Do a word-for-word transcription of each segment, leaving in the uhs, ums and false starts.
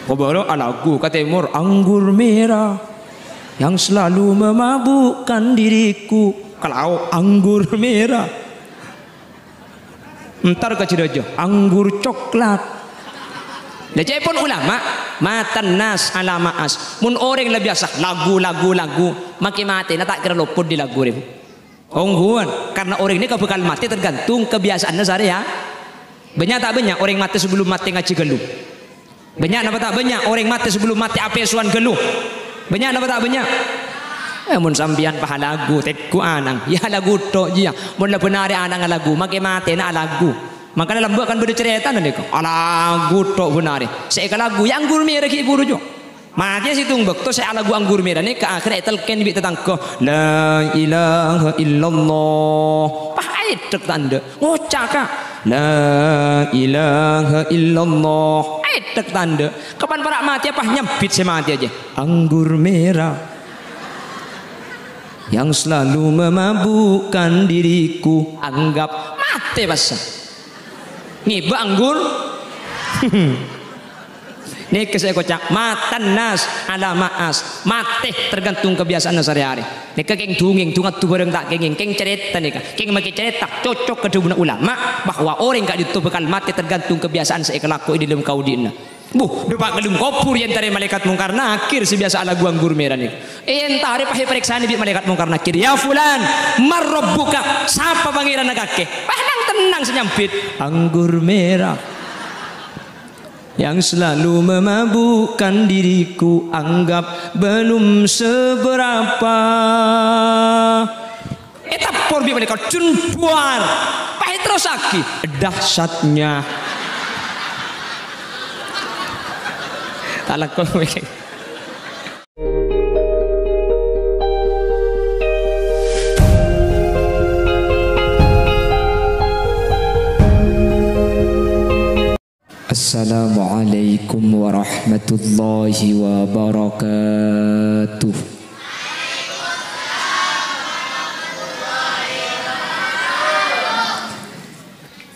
Kobâlâ alagu ka tèmor, "Anggur merah yang selalu memabukkan diriku." Ka lao', "Anggur merah." Entar ka jârâjâ, "Anggur coklat." Lah, ca'èpon ulama, "Matan nas ala ma'as." Mon orèng la biyasa lagu, lagu, lagu, makkè matèna ta' kèra lopot dâri lagu rèya. Ongghuwân, karna orèng nèka bhâkal matè tergantung kabiyasa'anna sarè, ya. Bânnya' ta' bânnya' orèng matè sabellum matè ngajhi ghâllu? Bânnya' napa ta' bânnya' orèng matè sabellum matè apèsowan ghâllu? Bânnya' napa ta' bânnya'? Eh, mon sampèyan pas alagu, tèggu anang, ya alagu tok jiyâ. Mon la bân arè anang alagu, makkè matèna alagu. Mangkana lambâ' kan bâdâ carètana nèka. Alagu tok bân arè. Sè èkalagu, ya anggur merah ghi' bhuru jâ. Matèya sèttong bâkto sè alagu anggur merah nèka akhèrra ètalkèn bi' tatangghâ, "La ilaha illallah." Pas aèddhek tandhâ. Ngoca', Ka', "La ilaha illallah." Aèddhek tandhâ. Kapan para' matèya pas nyambit sè matèya jiyâ. "Anggur merah yang selalu memabukkan diriku." Anggap matè passa. Ngibâ anggur. Nèka sè èkoca', "Matan nas ala ma'as." Matè tergantung kabiyasa'anna sarè-arè. Nèka kèng dungèng, dungadu bhârâng ta' kèngèng, kèng carèta nèka. Kèng makkè carèta, cocok ka dhâbuna ulama bahwa orèng ka'dinto bhâkal matè tergantung kabiyasa'an sè èkalakoè è dâlem kaodi'na. Bu, dâpa' ka dâlem kobhur èentarè Malaèkat Mungkar Nakir sè biyasa alagu anggur merah nèka. Èentarè pas èparèksanè bi' Malaèkat Mungkar Nakir, "Ya fulan, man rabbuka? Sapa Pangèranna kakè?" Pas nang-tennang sè nyambit, "Anggur merah yang selalu memabukkan diriku, anggap belum seberapa." Ètappor bi' malaèkat, "Jun buar." Pas èterrossaghi, "Dahsyatnya." Ta' lako. Assalamualaikum warahmatullahi wabarakatuh.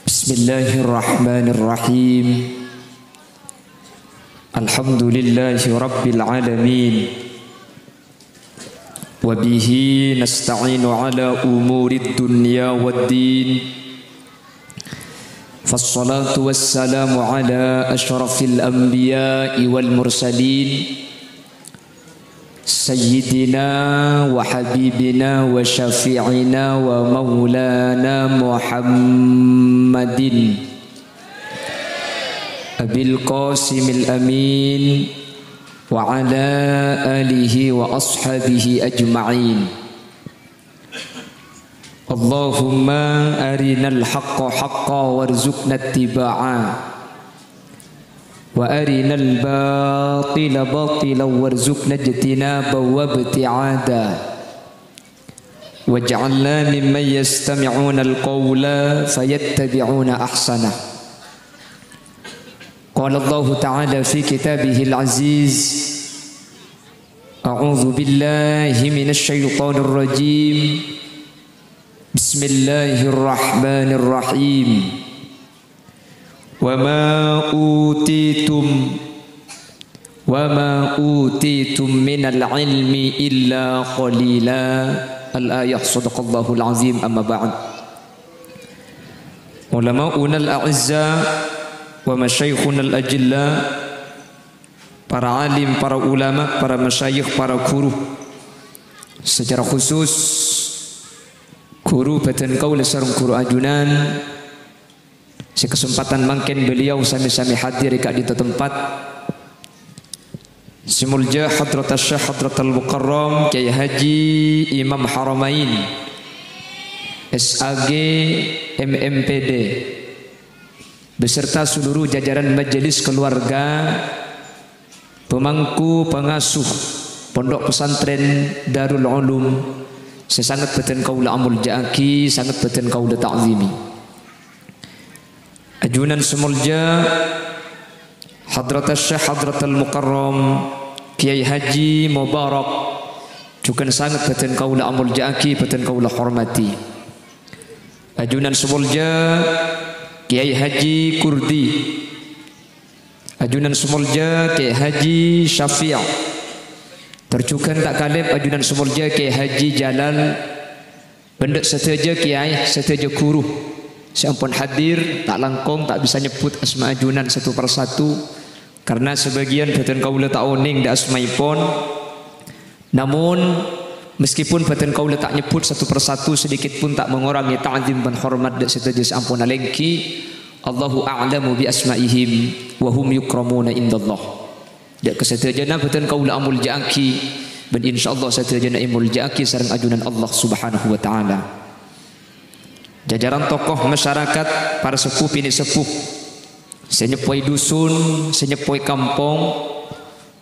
Bismillahirrahmanirrahim. Alhamdulillahi rabbil alamin. Wa bihi nasta'inu ala umurid dunya wad din. Fassalatu wassalamu ala asyrafil anbiya'i wal mursalin. Sayyidina wa habibina wa syafi'ina wa maulana Muhammadin. Abil Qasimil Amin wa ala alihi wa ashabihi ajma'in. Allahumma arinal haqqa haqqa warzuqna ittiba'a, wa arinal batila batila warzuqna ijtinaba wa ibti'ada. Waj'alna mimman yastami'unal qawla fayattabi'una ahsanah. Qala Allahu ta'ala fi kitabihil aziz, a'udzu billahi minasy syaithanir rajim. Bismillahirrahmanirrahim. Wa ma utitum, wa ma utitum minal ilmi illa qalila. Al-ayah, sadaqallahul azim, amma ba'd. Ulama'unal a'izza wa masyayikhunal ajilla, para alim, para ulama, para masyayikh, para guru. Secara khusus, guru bhâdhân kaulâ sareng guru ajunan sè kasempadhân mangkèn beliau sami-sami hadir è ka'dinto tempat. Sè molja Hadratus Syekh Hadratul Mukarram Kyai Haji Imam Haramain, S A G, M M P D, beserta seluruh jajaran majelis keluarga, pemangku pangasuh Pondok Pesantren Darul Ulum sè sanget bhâdhân kaulâ amolja'aghi, sanget bhâdhân kaulâ ta'zimi. Ajunan sè molja Hadratus Syekh Hadratul Mukarram Kyai Haji Mubarak, jhughân sanget bhâdhân kaulâ amolja'aghi, bhâdhân kaulâ hormati. Ajunan sè molja Kyai Haji Kurdi, Ajunan sè molja Kè Haji Syafi'. Tor jhughân ta' kalèp ajunan sè molja Kè Haji Jalal. Bân dhâ' sadhâjâ kèyaè, sadhâjâ ghuru sè ampon hadir, ta' langkong, ta' bisa nyebbhut asma ajunan satu per satu, karna sabâgiyân bhâdhân kaulâ ta' onèng dhâ' asmaèpon. Namun, meskipun bhâdhân kaulâ ta' nyebbhut satu per satu, sedikit pun ta' mangorangè ta'zim bân hormat dhâ' sadhâjâ sè ampon alèngghi. Allahu a'lamu bi asma'ihim wa hum yukramuna indallah. Dhâ' ka sadhâjâna bhâdhân kaulâ amolja'aghi, bân insyaallah sadhâjâna èmolja'aghi sareng ajunan Allah Subhanahu wa Ta'ala. Jajaran tokoh masyarakat, para seppo binè' seppo, sè nyeppoè dusun, sè nyeppoè kampong,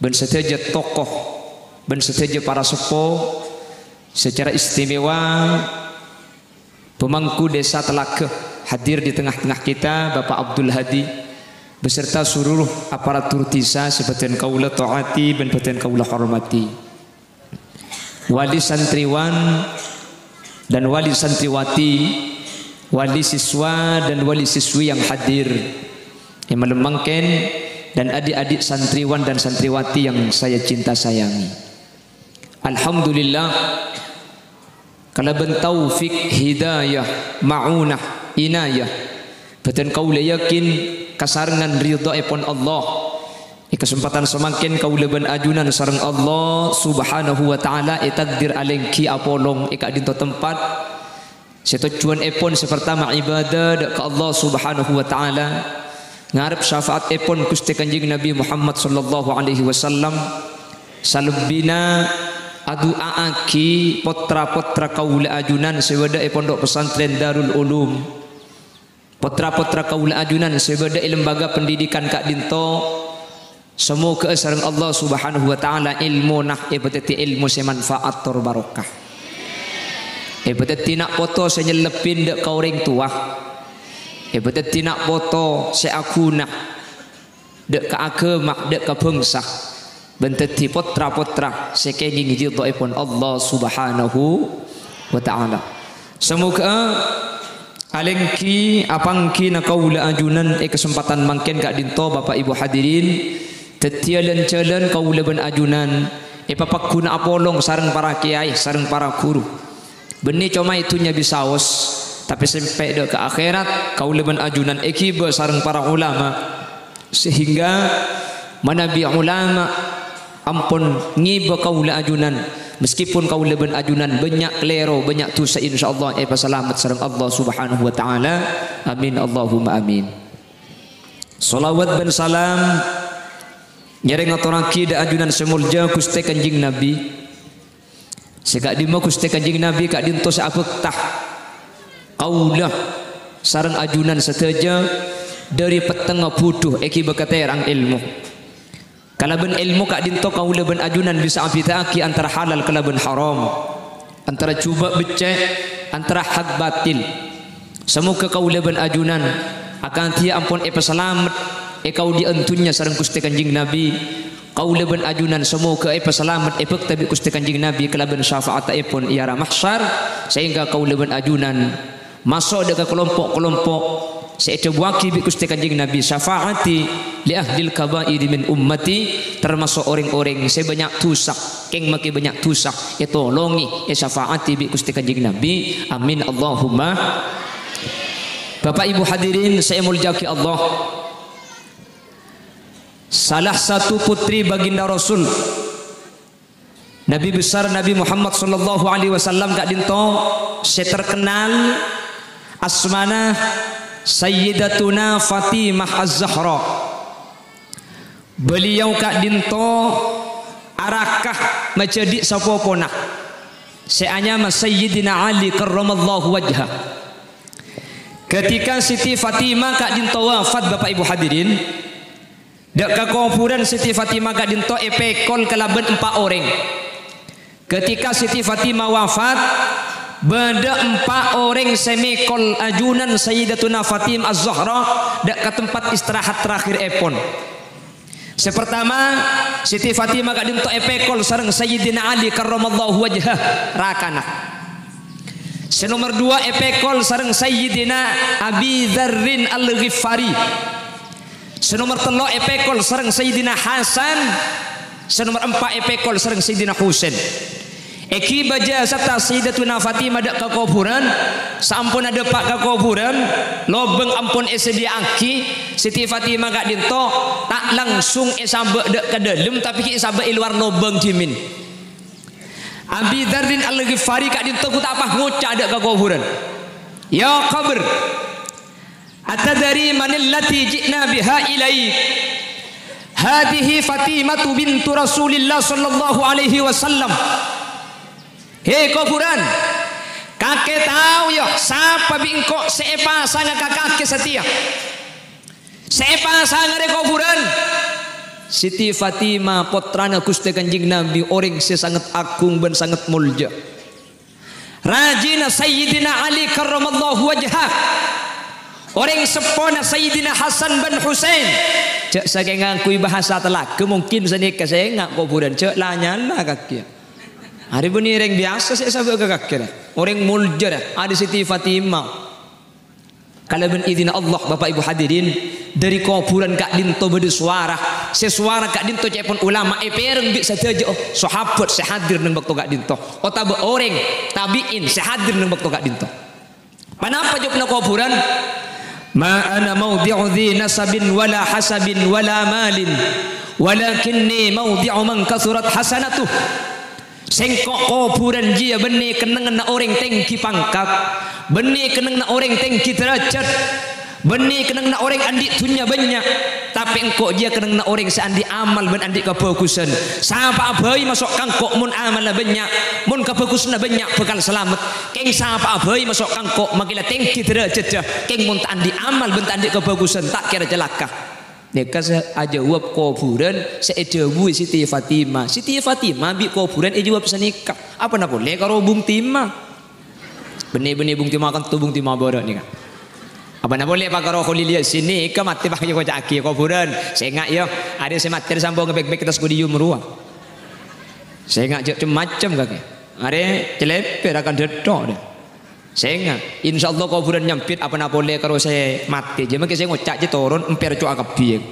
bân sadhâjâ tokoh, bân sadhâjâ para seppo, secara istimewa, pemangku Desa Telaga hadir di tengah-tengah kita, Bapak Abdul Hadi, beserta seluruh aparatur desa sè bhâdhân kaulâ ta'ati bân bhâdhân kaulâ hormati. Wali santriwan dan wali santriwati, wali siswa dan wali siswi yang hadir è malem mangkèn, dan adik-adik santriwan dan santriwati yang saya cinta sayangi. Alhamdulillah, kalabân taufik, hidayah, ma'unah, inayah, bhâdhân kaulâ yakin kasarengngan ridhoèpon Allah. È kasempadhân samangkèn kaulâ bân ajunan sareng Allah Subhanahu wa Ta'ala ètakdir alèngghi apolong è ka'dinto tempat sè tojjhuwânèpon sè partama ibadah dhâ' ka Allah Subhanahu wa Ta'ala, ngarep syafa'atèpon Ghustè Kanjeng Nabi Muhammad sallallahu alaihi wasallam, salebbina adu'a'aghi pottra-pottra kaulâ ajunan sè bâdâ è Pondok Pesantren Darul Ulum. Pottra-pottra kaulâ ajunan sè bâdâ è lembaga pendidikan ka'dinto, samoghâ'â sareng Allah Subhanahu wa Ta'ala èlmona èpadhâddhi èlmo sè manfaat tor barokah. Èpadhâddhi na' poto sè nyellebbhi dhâ' ka orèng towa. Èpadhâddhi na' poto sè aghuna dhâ' ka aghâma, dhâ' ka bhângsa, bân dhâddhi pottra-pottra sè kèngèng ridhoèpon Allah Subhanahu wa Ta'ala. Samoghâ'â alèngghi apangghina kaulâ ajunan è kasempadhân mangkèn ka'dinto, Bapak Ibu hadirin, dhâddhiyâ lan-jhâlân kaulâ bân ajunan èpapagghuna apolong sareng para kèyaè, sareng para ghuru. Bânnè coma è dhunnya bisaos, tapè sampè' dhâ' ka akhèrat, kaulâ bân ajunan èghibâ sareng para ulama. Sehingga manabi ulama ampon ngibâ kaulâ ajunan, meskipun kaulâ bân ajunan bânnya' kalèro, bânnya' dhusa, insyaallah èpasalamet sareng Allah Subhanahu wa Ta'ala. Amin, Allahumma amin. Shalawat bân salam nyarè ngatorraghi dhâ' ajunan sè molja Ghustè Kanjeng Nabi. Sè ka'dimma Ghustè Kanjeng Nabi ka'dinto sè abhâkta kaulâ sareng ajunan sadhâjâ dhâri pettengnga budhu èghibâ ka tèrang èlmo. Kalabân èlmo ka'dinto kaulâ bân ajunan bisa abhidhâ'aghi antara halal kalabân haram, antara jhubâ' beccè', antara hak batil. Samoghâ kaulâ bân ajunan akadhiyâ ampon èpasalamet è kaodi'ân dhunnya sareng Ghustè Kanjeng Nabi. Kaulâ bân ajunan samoghâ èpasalamet èbhâkta bi' Ghustè Kanjeng Nabi kalabân syafa'attèpon è ara mahsyar, sehingga kaulâ bân ajunan maso' dhâ' ka kalompo'-kalompo' sè èdhâbuwâghi bi' Ghustè Kanjeng Nabi, "Syafa'ati li ahlil kaba'iri min ummati," tamaso' orèng-orèng sè bânnya' dhusa, kèng makè bânnya' dhusa, ètolongè, èsyafa'ati bi' Ghustè Kanjeng Nabi. Amin, Allahumma. Bapak Ibu hadirin sè èmoljâ'aghi Allah, salah satu putri baginda Rasul, Nabi besar Nabi Muhammad sallallahu alaihi wasallam ka'dinto sè terkenal asmana Sayyidatuna Fatimah Az-Zahra. Beliau ka'dinto araka majhâdhi' sapopona sè anyama Sayyidina Ali karramallahu wajhah. Ketika Siti Fatimah ka'dinto wafat, Bapak Ibu hadirin, dhâ' ka kobhurân Siti Fatimah ka'dinto èpèkol kalabân empa' orèng. Ketika Siti Fatimah wafat, bâdâ empa' orèng sè mèkol ajunan Sayyidatuna Fatimah Az-Zahra dhâ' ka tempat istirahat terakhirèpon. Sè partama, Siti Fatimah ka'dinto èpèkol sareng Sayyidina Ali karramallahu wajhah, rakana. Sè nomer duwâ' èpèkol sareng Sayyidina Abi Dzarrin Al-Ghifari. Sè nomer tello' èpèkol sareng Sayyidina Hasan, sè nomer empa' èpèkol sareng Sayyidina Husain. Èghibâ jâ sarta Sayyidatuna Fatimah dâ' ka kobhurân, saamponna dâpa' ka kobhurân, lobâng ampon èsadhiyâ'aghi, Siti Fatimah ka'dinto ta' langsung èsabâ' dâ' ka dâlem, tapè ghi' èsabâ' è lowar lobâng dhimèn. Abi Dzarrin Al-Ghifari ka'dinto ghu ta' pas ngoca' dâ' ka kobhurân, "Ya qabr, atadri manillati ji'na biha ilaik? Hadhihi Fatimatu bintu Rasulillah sallallahu alaihi wasallam." He kobhurân, kakè tao, ya, sapa bi' engko' sè èpasanga ka kakè satèya? Sè èpasanga rè kobhurân, Siti Fatimah, pottrana Ghustè Kanjeng Nabi, orèng sè sanget agung bân sanget molja. Rajina Sayyidina Ali karramallahu wajhah. Orèng seppona Sayyidina Hasan bân Husain. Jhâ' sakèng ngangghuy bahasa Telaga, mungkin sanèka sènga' kobhurân, jhâ' la-nyala kakè. Arè bânnè orèng biyasa sè èsabâ' ka kakè, rè. Orèng molja, rè. Arè Siti Fatimah. Kalabân idinna Allah, Bapak Ibu hadirin, dâri kobhurân ka'dinto bâdâ sowara. Sè sowara ka'dinto ca'èpon ulama èpèrèng bi' sadhâjâ, oh, sahabat sè hadir neng bâkto ka'dinto, otabâ orèng tabi'in sè hadir neng bâkto ka'dinto. Ponapa jâwâbbhâ kobhurân? "Ma ana maudhi'u dhi nasabin wala hasabin wala malin, walakinni maudhi'u man kathurat hasanatuh." Sèngko' kobhurân jiyâ bânnè kennengnganna orèng tèngghi pangkat, bânnè kennengnganna orèng tèngghi dârâjhât, bânnè kennengnganna orèng andi' dhunnya bânnya', tapè èngko' jiyâ kennengnganna orèng sè andi' amal bân andi' kabhâghusân. Sapa'a bhâi maso' ka èngko' mon amalla bânnya', mon kabhâghusânna bânnya' bhâkal salamet. Kèng sapa'a bhâi maso' ka èngko' makè la tèngghi dârâjhâddhâ, kèng mon ta' andi' amal bân ta' andi' kabhâghusân, ta' kèra calaka. Nèka sè ajâwâb kobhurân sè èdhâbuwi Siti Fatimah. Siti Fatimah bi' kobhurân èjâwâb sanèka. Apana polè karo Bung Tima? Bânnè-bânnè Bung Tima kanto Bung Tima bârâ' nèka. Apana polè pakaro Kholil Yasin nèka matè pas èkoca'aghi kobhurân. Sènga', yâ, arè sè matè sambhung bek-bek attas podium rowa. Sènga' jhâ' cem-macem kakè. Arè cèlèpè rakan dâtto', dâ. Sènga', insyaallah kobhurân nyambit apana polè karo sè matè. Jâ' makè sè ngoca' jâ' toron, empèr co'a kabbhi.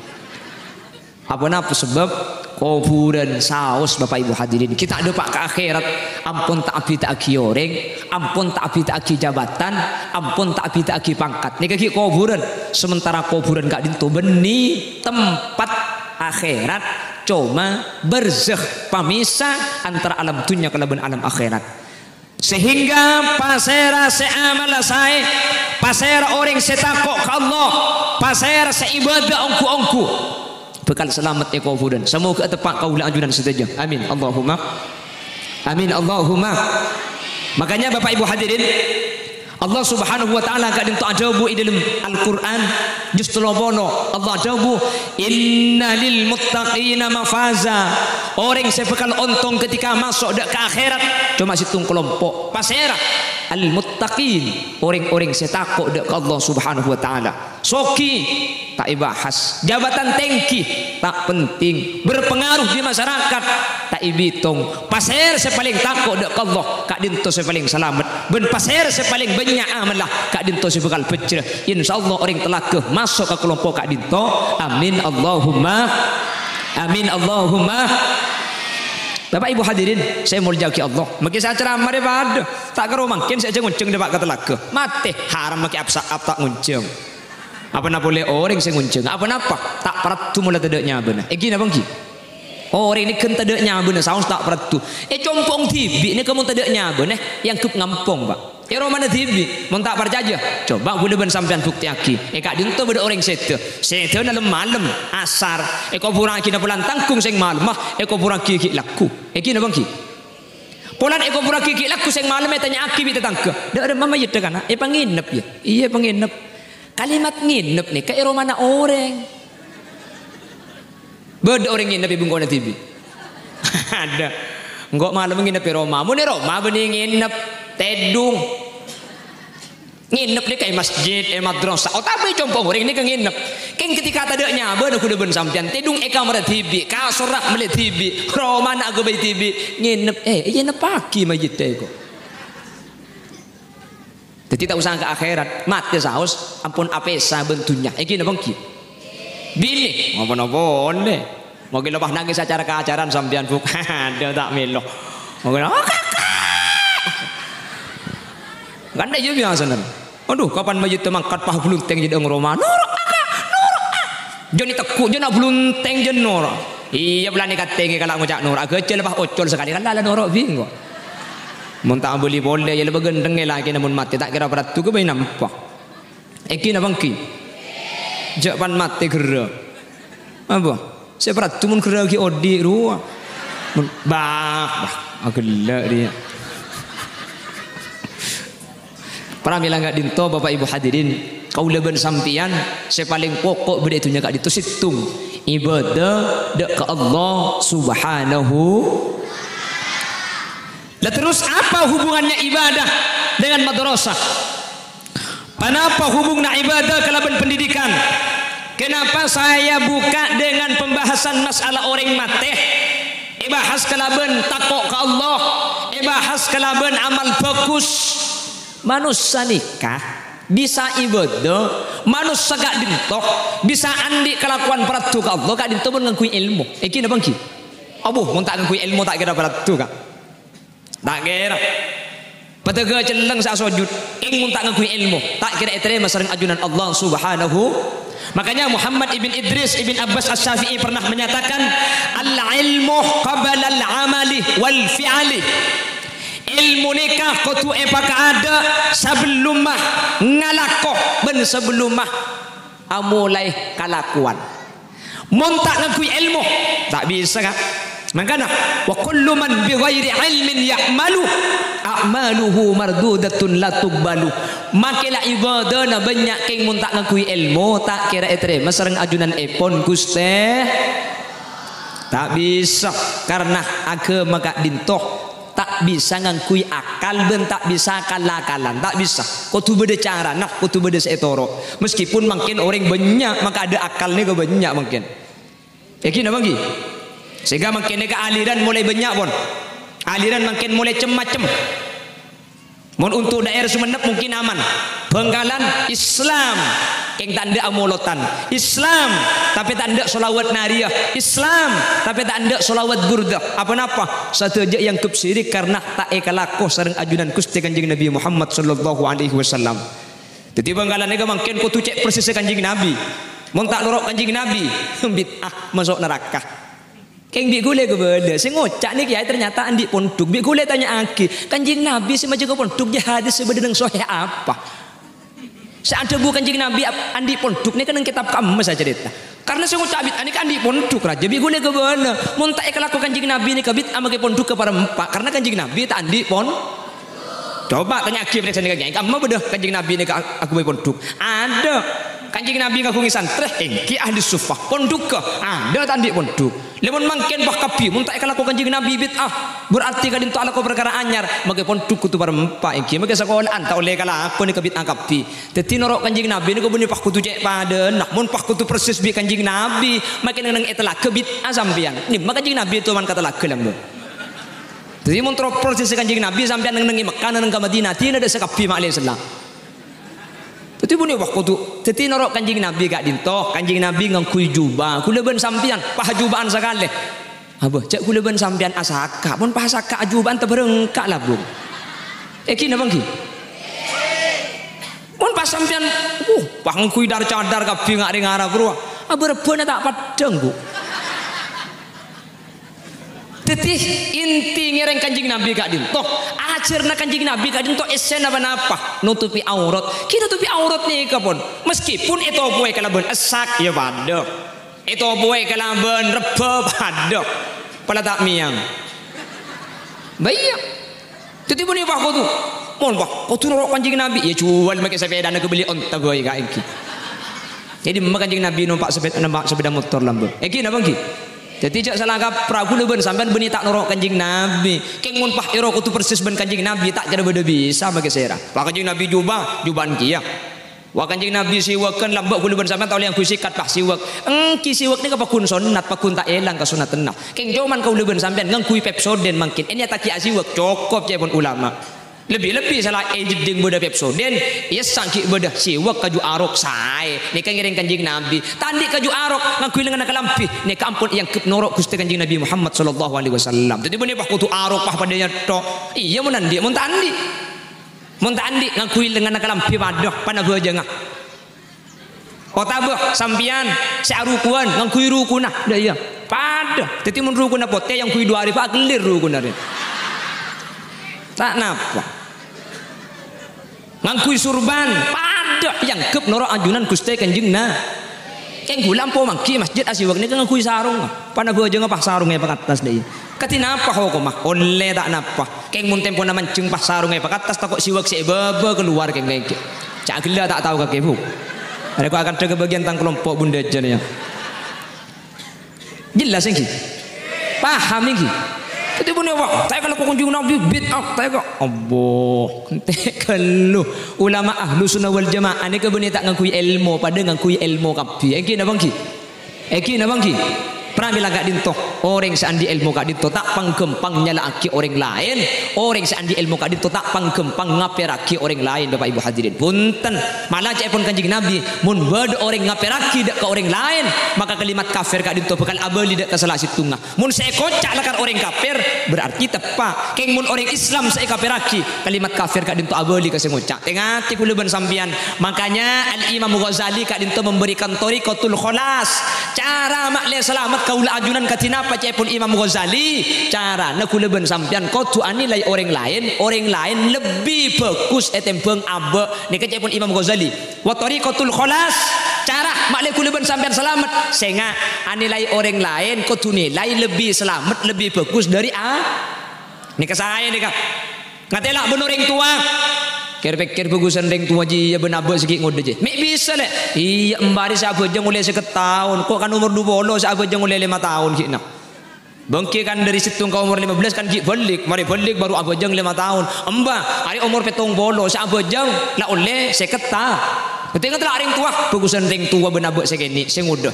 Aponapa? Sabâb kobhurân saos, Bapak Ibu hadirin. Kita dâpa' ka akhèrat, ampon ta' abhidhâ'aghi orèng, ampon ta' abhidhâ'aghi jabatan, ampon ta' abhidhâ'aghi pangkat. Nèka ghi' kobhurân. Sementara kobhurân ka'dinto bânnè tempat akhèrat, coma barzakh, pamisa antara alam dhunnya kalabân alam akhèrat. Sehingga pasèra sè amalla saè, pasèra orèng sè tako' ka Allah, pasèra sè ibadah ongghu-ongghu, bhâkal salamet è kobhurân. Samoghâ ateppa' kaulâ ajunan sadhâjâ. Amin. Allahumma. Amin. Allahumma. Makanya, Bapak Ibu hadirin, Allah Subhanahu wa Ta'ala ka'dinto adhâbu è dâlem Al-Qur'an, jus tello polo. Allah adhâbu, "Inna lil muttaqina mafaza." Orèng sè bhâkal ontong ketika maso' dâ' ka akhèrat, coma sèttong kalompo'. Pasèra? Al-muttaqin, orèng-orèng sè tako' dâ' ka Allah Subhanahu wa Ta'ala. Soghi, ta' èbahas. Jabatan tèngghi, ta' penting. Berpengaruh di masyarakat, ta' èbitong. Pasèra sè palèng tako' dâ' ka Allah, ka'dinto sè palèng salamet. Bân pasèra sè palèng bânnya' amalla, ka'dinto sè bhâkal bhâjjhrâ. Insyaallah orèng talaga maso' ka kalompo' ka'dinto. Amin Allahumma. Amin Allahumma. Bapak Ibu hadirin sè èmoljâ'aghi Allah, makè sè acaramah rè padâ. Ta' karo mangkèn sè ajâ ngonjhâng dâpa' ka talaga. Matè, haram makè apsa-, ap-, ta' ngonjhâng. Apana polè orèng sè ngonjhâng? Aponapa? Ta' paraddhu mola tadâ' nyabâna. Èngghi napa èngghi? Orèng nèka tadâ' nyabâna saos ta' paraddhu. È compo'na dhibi' nèka mon tadâ' nyabâna, èangghep ngampong, Pak. È romana dhibi', mon ta' parcajâ, coba ghulâ bân sampèyan buktèyaghi. È ka'dinto bâdâ orèng sèdhâ. Sèdhâna lem-malem, asar. Èkobhurraghi napa lan tangghung sè malemma, èkobhurraghi ghi' lagghu. Èngghi napa èngghi? Polana èkobhurraghi ghi' lagghu sè malemma ètanya'aghi bi' tatangghâ, "Dâ' remma mayyidhâ kana'?" "Èpangènep, yâ." "Iyâ, èpangènep." Kalimat ngènep nèka è romana orèng. Bâdâ orèng ngènep è bengkona dhibi'? Adâ. Engko' malem ngènep è roma. Mon è roma bânnè ngènep, tèdung. Ngènep nèka è masjid, è madrasah, otabâ è compo' orèng nèka ngènep. Kèng ketika tadâ' nyabâna ghulâ bân sampèyan, tèdung è kamarra dhibi', kasorra mellè dhibi', romana aghâbây dhibi', ngènep, eh, èngeppaghi mayyidhâ èko. Dhâddhi ta' osa ka akhèrat, matè saos ampon apèsa bân dhunnya. Èngghi napa èngghi? Binè, ngapa-napa polè. Mungkin lepas nangis acara-acaran sampèyan, Bu. Adhu, ta' mèlo. Mungkin, "Oh, kakak!" Kan iyâ biyasana. Adhu, kapan mayyidda mangkat pas bluntèng jâ' è roma. "Noro', kakak! Noro', ah!" Jâ' nè tegghu', jâ' nè bluntèng, jâ' noro'. Iyâ, polana katèngè kala ngoca' noro'. Ghâjâl pas ocol sakalè, kan la noro' bi' engko'. Mon ta' abâli polè, iyâ la bâgândhengngè lakèna mon matè, ta' kèra paraddhu ghâbây nampa. Èngghi napa èngghi? Jâ' pan matè ghârâ. Apa? Sè paraddhu mon ghârâ ghi' odi' rowa. Mon, bah, bah, aghellâ' rèya. Pramèla ka'dinto, Bapak Ibu hadirin, kaulâ bân sampèyan sè palèng poko' bâdâ è dhunnya ka'dinto sèttong, ibadah dâ' ka Allah Subhanahu. Lah terus apa hubungannya ibadah dengan madrasah? Ponapa hubunganna ibadah kalabân pendidikan? Kenapa saya buka dengan pembahasan masalah orèng matè? Èbahas kalabân tako' ka Allah, èbahas kalabân amal bhâghus. Manossa nèka bisa ibadah, manossa ka'dinto bisa andi' kalakowan paraddhu ka Allah ka'dinto mon ngangghuy èlmo. Èngghi napa èngghi? Abbhu, mon ta' ngangghuy èlmo ta' kèra paraddhu, Ka'. Ta' kèra. Padâgâ cellèng sè asojud, kèng mon ta' ngangghuy èlmo, ta' kèra ètarèma sareng ajunan Allah Subhanahu. Makanya Muhammad ibn Idris ibn Abbas Asy-Syafi'i pernah menyatakan, "Al-ilmu qablal amali wal fi'li." Èlmo nèka kodhu èpakaadâ' sabellumma ngalako bân sabellumma amolaè kalakowan. Mon ta' ngangghuy èlmo, ta' bisa, Ka'. Mangkana, "Wa kullu man bi ghairi ilmin ya'malu, a'maluhu mardudatun la tuqbalu." Makè la ibadana bânnya' kèng mon ta' ngangghuy èlmo, ta' kèra ètarèma sareng ajunanèpon Ghustè. Ta' bisa, karna aghâma ka'dinto ta' bisa ngangghuy akal bân ta' bisa akal-akalan, ta' bisa. Kodhu bâdâ carana, kodhu bâdâ sè ètoro'. Meskipun mangkèn orèng bânnya' makaadâ' akal nèka bânnya' mangkèn. Èngghi napa èngghi? Sehingga mangkèn nèka aliran molaè bânnya', pon. Aliran mangkèn molaè cem-macem. Mon untuk daerah Sumenep mungkin aman. Bangkalan Islam, kèng ta' endâ' amolotan. Islam, tapè ta' endâ' sholawat nariyah. Islam, tapè ta' endâ' sholawat burdah. Apa napa? Sadhâjâ èangghep syirik karna ta' èkalako sareng ajunan Ghustè Kanjeng Nabi Muhammad sallallahu alaihi wasallam. Dhâddhi Bangkalan nèka mangkèn kodhu cè' persissa Kanjeng Nabi. Mon ta' noro' Kanjeng Nabi, bid'ah, maso' naraka. Kèng bi' ghulâ kabâlâ, sè ngoca' nèka yâ ternyata andi' pondhuk. Bi' ghulâ tanya'aghi, Kanjeng Nabi sè majâgâ pondhuk jâ hadis sè bâdâ neng Sahih apa? Sè adhâbu Kanjeng Nabi ap-, andi' pondhuk nèka neng kètab ka'emma sacarèta. Karna sè ngoca' bid'ah nèka andi' pondhuk, rajâ bi' ghulâ kabâlâ. Mon ta' èkalako Kanjeng Nabi nèka bid'ah makè pondhuk ka parempa', karna Kanjeng Nabi ta' andi' pon-, Coba tanya'aghi parèksa nèka, Kèyaè. Ka'emma bâdâ Kanjeng Nabi nèka aghâbây pondhuk? Adâ'. Kanjeng Nabi ngaghungè santrè, èngghi ahli suffah. Pondhugghâ? Adâ' ta' andi' pondhuk. Lha mon mangkèn pas kabbhi, mon ta' èkalako Kanjeng Nabi bid'ah, berarti ka'dinto alako parkara anyar, makè pondhuk kodhu parempa', èngghi makè sakola'an ta' ollè èkalako nèka bid'ah kabbhi. Dhâddhi noro' Kanjeng Nabi nèka bânnè pas kodhu cè' padâna, mon pas kodhu persis bi' Kanjeng Nabi, makè neng-neng è talaga bid'ah sampèyan. Dimma Kanjeng Nabi toman ka talaga lambung. Dhâddhi mon terro persis Kanjeng Nabi sampèyan neng-neng è Mekkah, neng-neng ka Madinah, dinah dâ' sakabbhi ma'lè sella. Dhâddhi bânnè pas kodhu, dhâddhi noro' Kanjeng Nabi ka'dinto, Kanjeng Nabi ngangghuy jubah, ghulâ bân sampèyan, pas juba'an sakalè. Abâ, jâ' ghulâ bân sampèyan asaka', mon pas asaka' ajuba'an tabarengka' lambung. Èngghi napa èngghi? Mon pas sampèyan, uh, pas ngangghuy dhâr-cadhâr kabbhi nga' rèng Arab rowa, abâ rebbhâna ta' peddhâng, Bu. Dhâddhi, inti ngèrèng Kanjeng Nabi ka'dinto, ajhârna Kanjeng Nabi ka'dinto essèna ponapa? Notobhi aurat. Ghi notobhi aurat nèka, pon. Meskipun ètopowè kalabân essak, yâ padâ. Ètopowè kalabân rebbhâ, padâ. Pola ta' mèyang. Bâ iyâ. Dhâddhi, bânnè pas kodhu. Mon pas kodhu noro' Kanjeng Nabi, yâ juwâl makè sapèdana ghâbâli onta bhâi, Ka', èngghi. Dhâddhi, dimma Kanjeng Nabi nompa' sapè-, nompa' sapèda motor lambung. Èngghi napa èngghi? Dhâddhi, jâ' sala kaprah, ghulâ bân sampèyan bânnè ta' noro' Kanjeng Nabi. Kèng mon pas èro kodhu persis bân Kanjeng Nabi, ta' kèra bâdâ bisa makè sèra. Pas Kanjeng Nabi jubah, jubahân kèya. Wah, Kanjeng Nabi siwakan, lambâ' ghulâ bân sampèyan ta' ollè ngangghuy sikat, pas siwak. Èngghi siwak nèka pagghun sonnat, pagghun ta' èlang kasonnatanna. Kèng coma kaulâ bân sampèyan ngangghuy Pepsodent mangkèn. Ènèyattaghi asiwak, cokop ca'èpon ulama. Lebbi-lebbi sala è jeddhing bâdâ Pepsodent, iyâ sangghi bâdâ siwak kaju arok saè. Nèka ngèrèng Kanjeng Nabi. Ta' andi' kaju arok, ngangghuy lengnganna kalambhi. Nèka ampon èangghep noro' Ghustè Kanjeng Nabi Muhammad sallallahu alaihi wasallam. Dhâddhi bânnè pas kodhu arok pas padâ nyètto'. Iyâ mon andi', mon ta' andi'. Mon ta' andi', ngangghuy lengnganna kalambhi padâ, pana bhâjângnga. Otabâ sampèyan sè arukuwân ngangghuy rukunna, dâ' iyâ. Padâ. Dhâddhi mon rukunna potè, èangghuy du arè, pa' akellir rukunna rè. Ta' napa. Ngangghuy surban, padâ èangghep noro' ajunan Ghustè Kanjeng Na-, kèng ghulâ ampo mangghi masjid asiwak nèka ngangghuy sarong. Pana bhâjângnga pas sarong èpakattas, dâ' iyâ. Kadhi napa hokomma? Ollè ta' napa. Kèng mon tempona manjheng pas sarong èpakattas, tako' siwak sè è bâbâ kalowar kèng lèngghi'. Ca' ghellâ' ta' tao kakè, Bu. Arèya ko' akanta ka bâgiyân tang kalompo' bundâjân, yâ. Jelas ènggi? Paham ènggi? Dhâddhi bânnè, wah, ta' èka lako Kanjeng Nabi bid'ah, ta' èka. Allah, ente' ghâllu. Ulama ahlu sunnah wal jamaah nèka bânnè ta' ngangghuy èlmo, padâ ngangghuy èlmo kabbhi. Ènggi napa ènggi? Ènggi napa ènggi? Pramila ka'dinto, orèng sè andi' èlmo ka'dinto ta' pangghâmpang nyala'aghi orèng laèn, orèng sè andi' èlmo ka'dinto ta' pangghâmpang ngapèraghi orèng laèn, Bapak Ibu hadirin. Bhunten, mala ca'èpon Kanjeng Nabi, "Mon bâdâ orèng ngapèraghi dâ' ka orèng laèn, maka kalimat kafir ka'dinto bhâkal abâli dâ' ka sala sèttongnga." Mon sè èkoca' lakar orèng kafir, berarti teppa'. Kèng mon orèng Islam sè èkapèrraghi, kalimat kafir ka'dinto abâli ka sè ngoca'. Tè-ngatè kaulâ bân sampèyan. Makanya Al-Imam Ghazali ka'dinto memberikan thariqatul khalas. Cara ma'lè salamet kaulâ ajunan kadhi napa ca'èpon Imam Ghazali? Carana kaulâ bân sampèyan kodhu anilai orèng laèn, orèng laèn lebbi bhâghus ètèmbhâng abâ'. Nèka ca'èpon Imam Ghazali. Wa thariqatul khalas, cara ma'lè kaulâ bân sampèyan salamet. Sènga', anilai orèng laèn kodhu nilai lebbi salamet, lebbi bhâghus dâri a-, nèka saè nèka. Ngatèla' bân orèng towa. Kèr-pèkkèr bhâghusân rèng towa jiyâ bân abâ' sè ghi' ngodâ jiyâ. Mè' bisa, Lè'? Iyâ, embhâri sè abhâjâng ollè sèket taon. Ko' kan omor du polo sè abhâjâng ollè lèma taon ghi'na. Bângkè kan dâri sèttong ka omor lèma bellâs kan ghi' bâlik. Marè bâlik bhuru abhâjâng lèma taon. Embhâ, arè omor pèttong polo sè abhâjâng la ollè sèket ta-, Berarti ngatèla' rèng towa, bhâghusân rèng towa bân abâ' sè kènè', sè ngodâ.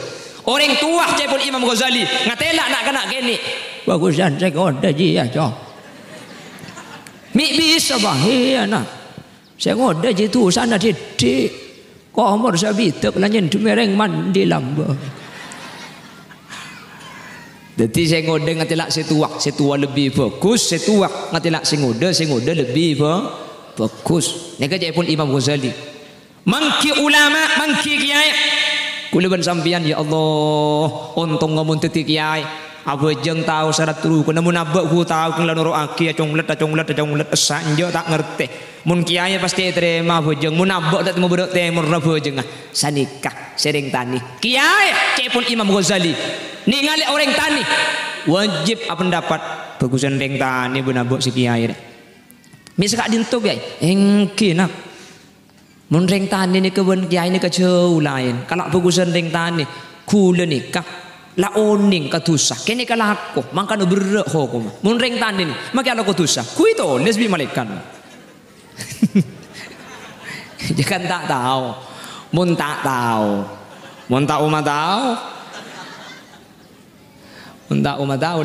Orèng towa ca'èpon Imam Ghazali, ngatèla' na'-kana' kènè'. Bhâghusân sè ngodâ jiyâ, Co'. Mè' bisa, Bah? Iyâ, Na'. Sè ngodâ jiyâ dusana dhiddhi'. Ko' omor sabidhâk la nyèndhemmè rèng mandi lambâ'. Dhâddhi sè ngodâ ngatèla' sè towa, sè towa lebbi bhâghus, sè towa ngatèla' sè ngodâ, sè ngodâ lebbi bhâ-, bhâghus. Nèka ca'èpon Imam Ghazali. Mangghi ulama, mangghi kèyaè. Kaulâ bân sampèyan, ya Allah, ontongnga mon dhâddhi kèyaè. Abhâjâng tao sarat rukunna, mon abâ' ghu tao kèng la noro'aghi, aconglet, aconglet, aconglet, essa enjâ' ta' ngartè. Mon kèyaè pastè ètarèma abhâjâng, mon abâ' ta' tèmor bârâ' tèmorra bhâjângnga. Sanèka sè rèng tanè. Kèyaè, ca'èpon Imam Ghazali, nèngalè orèng tanè, wajib apendapat, bhâghusân rèng tanè bân abâ' sè kèyaè, rè. Mè' saka'dinto, kèyaè? Èngghi, Na'. Mon rèng tanè nèka bân kèyaè nèka jhâu laèn. Kala' bhâghusân rèng tanè. Kaulâ nèka la onèng ka dhusa. Kènè' kalako, mangkana berrâ' hokomma. Mon rèng tanè nè, makè alako dhusa. Ghuy tolès bi' malaèkat. Jâ' kan ta' tao. Mon ta' tao. Mon ta' omma tao. Mon ta' omma tao.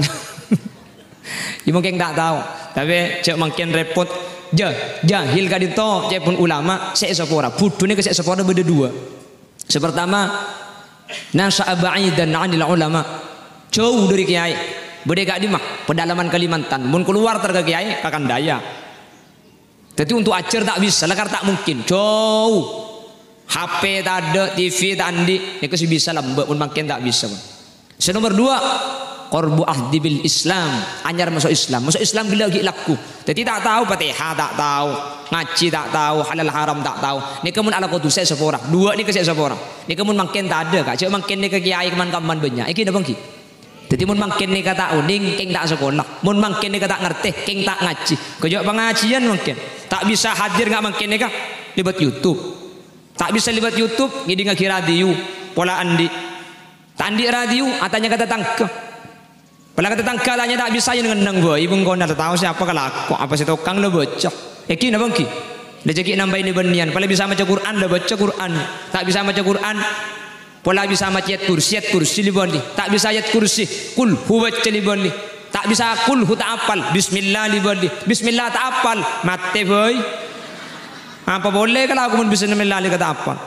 Yâ mungkin ta' tao. Tapè jâ' mangkèn rèpot. Jâ-, jahil ka'dinto, ca'èpon ulama, sè èsapora. Budhu nèka sè èsapora bâdâ duwâ'. Sè partama, nasya'a ba'idan 'anil ulama. Jhâu dâri kèyaè. Bâdâ è ka'dimma? Pedalaman Kalimantan. Mon kalowar ter ka kèyaè, ka Kandaya. Dhâddhi, untuk ajhâr ta' bisa, lakar ta' mungkin. Jhâu. H P tadâ', T V ta' andi', nèka sè bisa lambâ', mon mangkèn ta' bisa, pon. Sè nomer duwâ', qarbu ahdi bil Islam, anyar maso' Islam. Maso' Islam ghellâ' ghi' lagghu. Dhâddhi, ta' tao Fatihah, ta' tao, ngajhi ta' tao, halal haram ta' tao. Nèka mon alako dhusa èsapora. Duwâ' nèka sè èsapora. Nèka mon mangkèn tadâ', Ka'. Jâ' mangkèn nèka kèyaè man-kamman bânnya'. Ènggi napa ènggi? Dhâddhi, mon mangkèn nèka ta' onèng, kèng ta' sakola. Mon mangkèn nèka ta' ngartè, kèng ta' ngajhi. Kèng jâ' pangajhiyân mangkèn. Ta' bisa hadir nga' mangkèn nèka lèbât YouTube. Ta' bisa lèbât YouTube, ngèdingngaghi radio. Pola andi'. Ta' andi' radio, atanya ka tatangghâ. Pola ka tatangghâ atanya ta' bisa, yâ neng-enneng bhâi, bengkona la tao sè apa kalako, apa sè tokang la bâca. Ènggi napa ènggi? La jâ' ghi' nambâi nè-bânnèyan, pola bisa maca Qur'an, la bâca Qur'an. Ta' bisa maca Qur'an, pola bisa maca ayat kursi, ayat kursi lèbâli. Ta' bisa ayat kursi, kul huwa bâca lèbâli. Ta' bisa kulhu ta' apal, bismillah li bali, bismillah ta' apal, matè bhâi. Apa polè kalakowan bismillah li ta' apal?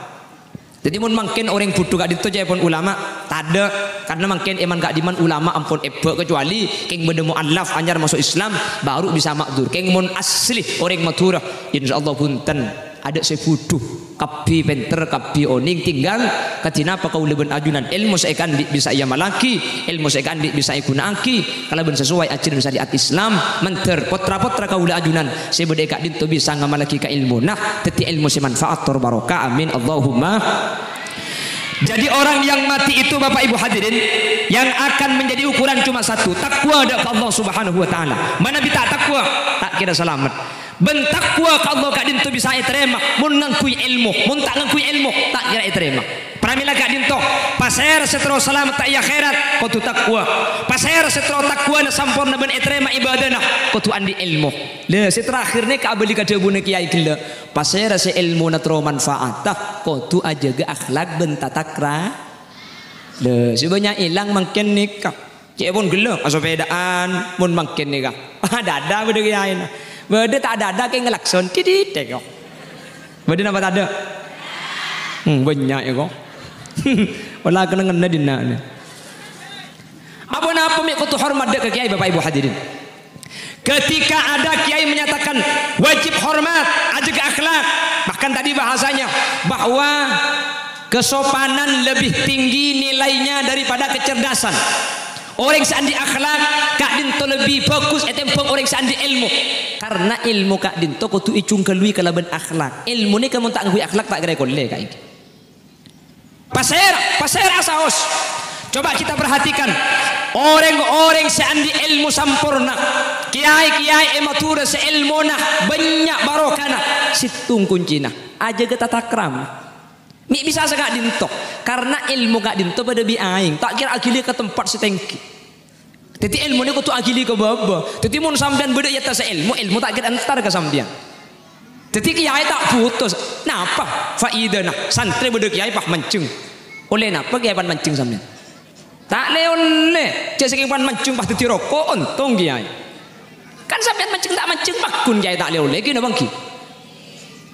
Dhâddhi, mon mangkèn orèng bhudhu ka'dinto ca'èpon ulama, tadâ'. Karna mangkèn è man ka'dimman ulama ampon èbâ', kecuali kèng bâdâ mu'allaf anyar maso' Islam, baru bisa ma'dzur. Kèng mon asli orèng Madhurâ, insyaallah bhunten. Adâ' sè bhudhu, kabbhi pènter, kabbhi onèng, tinggal kadhi napa kaulâ bân ajunan èlmo sè èkaandi' bisa èamallaghi, èlmo sè èkaandi' bisa èghuna'aghi kalaban sasowai ajhârân syariat Islam, mandhâr potra-potra kaulâ ajunan sè bâdâ è ka'dinto bisa ngamallaghi kaèlmona, dhâddhi èlmo sè manfaat tor barokah. Amin, Allahumma. Jadi, orang yang mati itu, Bapak Ibu hadirin, yang akan menjadi ukuran cuma satu, takwa dâ' ka Allah Subhanahu wa Ta'ala. Manabi ta' takwa, ta' kèra salamet. Bân takwa ka Allah ka'dinto bisa ètarèma mon ngangghuy èlmo, mon ta' ngangghuy èlmo, ta' kèra ètarèma. Pramèla ka'dinto, pasèra sè terro salamet è akhèrat, kodhu takwa. Pasèra sè terro takwana samporna bân ètarèma ibadana, kodhu andi' èlmo. Lha, sè terakhir nèka abâli ka dhâbuna kèyaè ghellâ', pasèra sè èlmona terro manfaata, kodhu ajâgâ akhlak bân tatakra. Lha, sè bânnya' èlang mangkèn nèka. Ca'èpon ghellâ', asapèdaan, mon mangkèn nèka. Adâ'-adâ' bâdâ kèyaèna. Bâdâ ta' adâ'-adâ' kèng ngalakson, didit, kok. Bâdâ napa tadâ'? Hmm, bânnya' ya, kok. Ola kenengnganna dinna' nè. Apa-napa mè' kodhu hormat dâ' ka kèyaè, Bapak Ibu hadirin. Ketika ada kiai menyatakan wajib hormat, ajâgâ akhlak, bahkan tadi bahasanya bahwa kesopanan lebih tinggi nilainya daripada kecerdasan. Orèng sè andi' akhlak ka'dinto lebbi bhâghus ètèmbhâng orèng sè andi' èlmo. Karna èlmo ka'dinto kodhu èjhungghâlui kalabân akhlak. Èlmo nèka mon ta' ngangghuy akhlak, ta' kèra èkollè ka'ènggi. Pasèra, pasèra saos. Coba kita perhatikan. Orèng-orèng sè andi' èlmo samporna, kèyaè-kèyaè è Madhurâ sè èlmona bânnya' barokana, sèttong koncèna. Ajâgâ tatakrama. Mè' bisa saka'dinto, karna èlmo ka'dinto padâ bi' aèng, ta' kèra aghili ka tempat sè tèngghi. Dhâddhi, èlmo nèko kodhu aghili ka bâbâ. Dhâddhi, mon sampèyan bâdâ è attassa èlmo, èlmo ta' kèra entar ka sampèyan. Dhâddhi, kèyaè ta' bhuto. Napa faèdana? Santrè bâdâ kèyaè pas manjheng. Ollè napa kèyaè pas manjheng sampèyan? Ta' lè-ollè. Jhâ' sakèng pas manjheng pas dhâddhi roko', ontong kèyaè. Kan sampèyan manjheng ta' manjheng pagghun kèyaè ta' lè-ollè, ghi napa ènggi?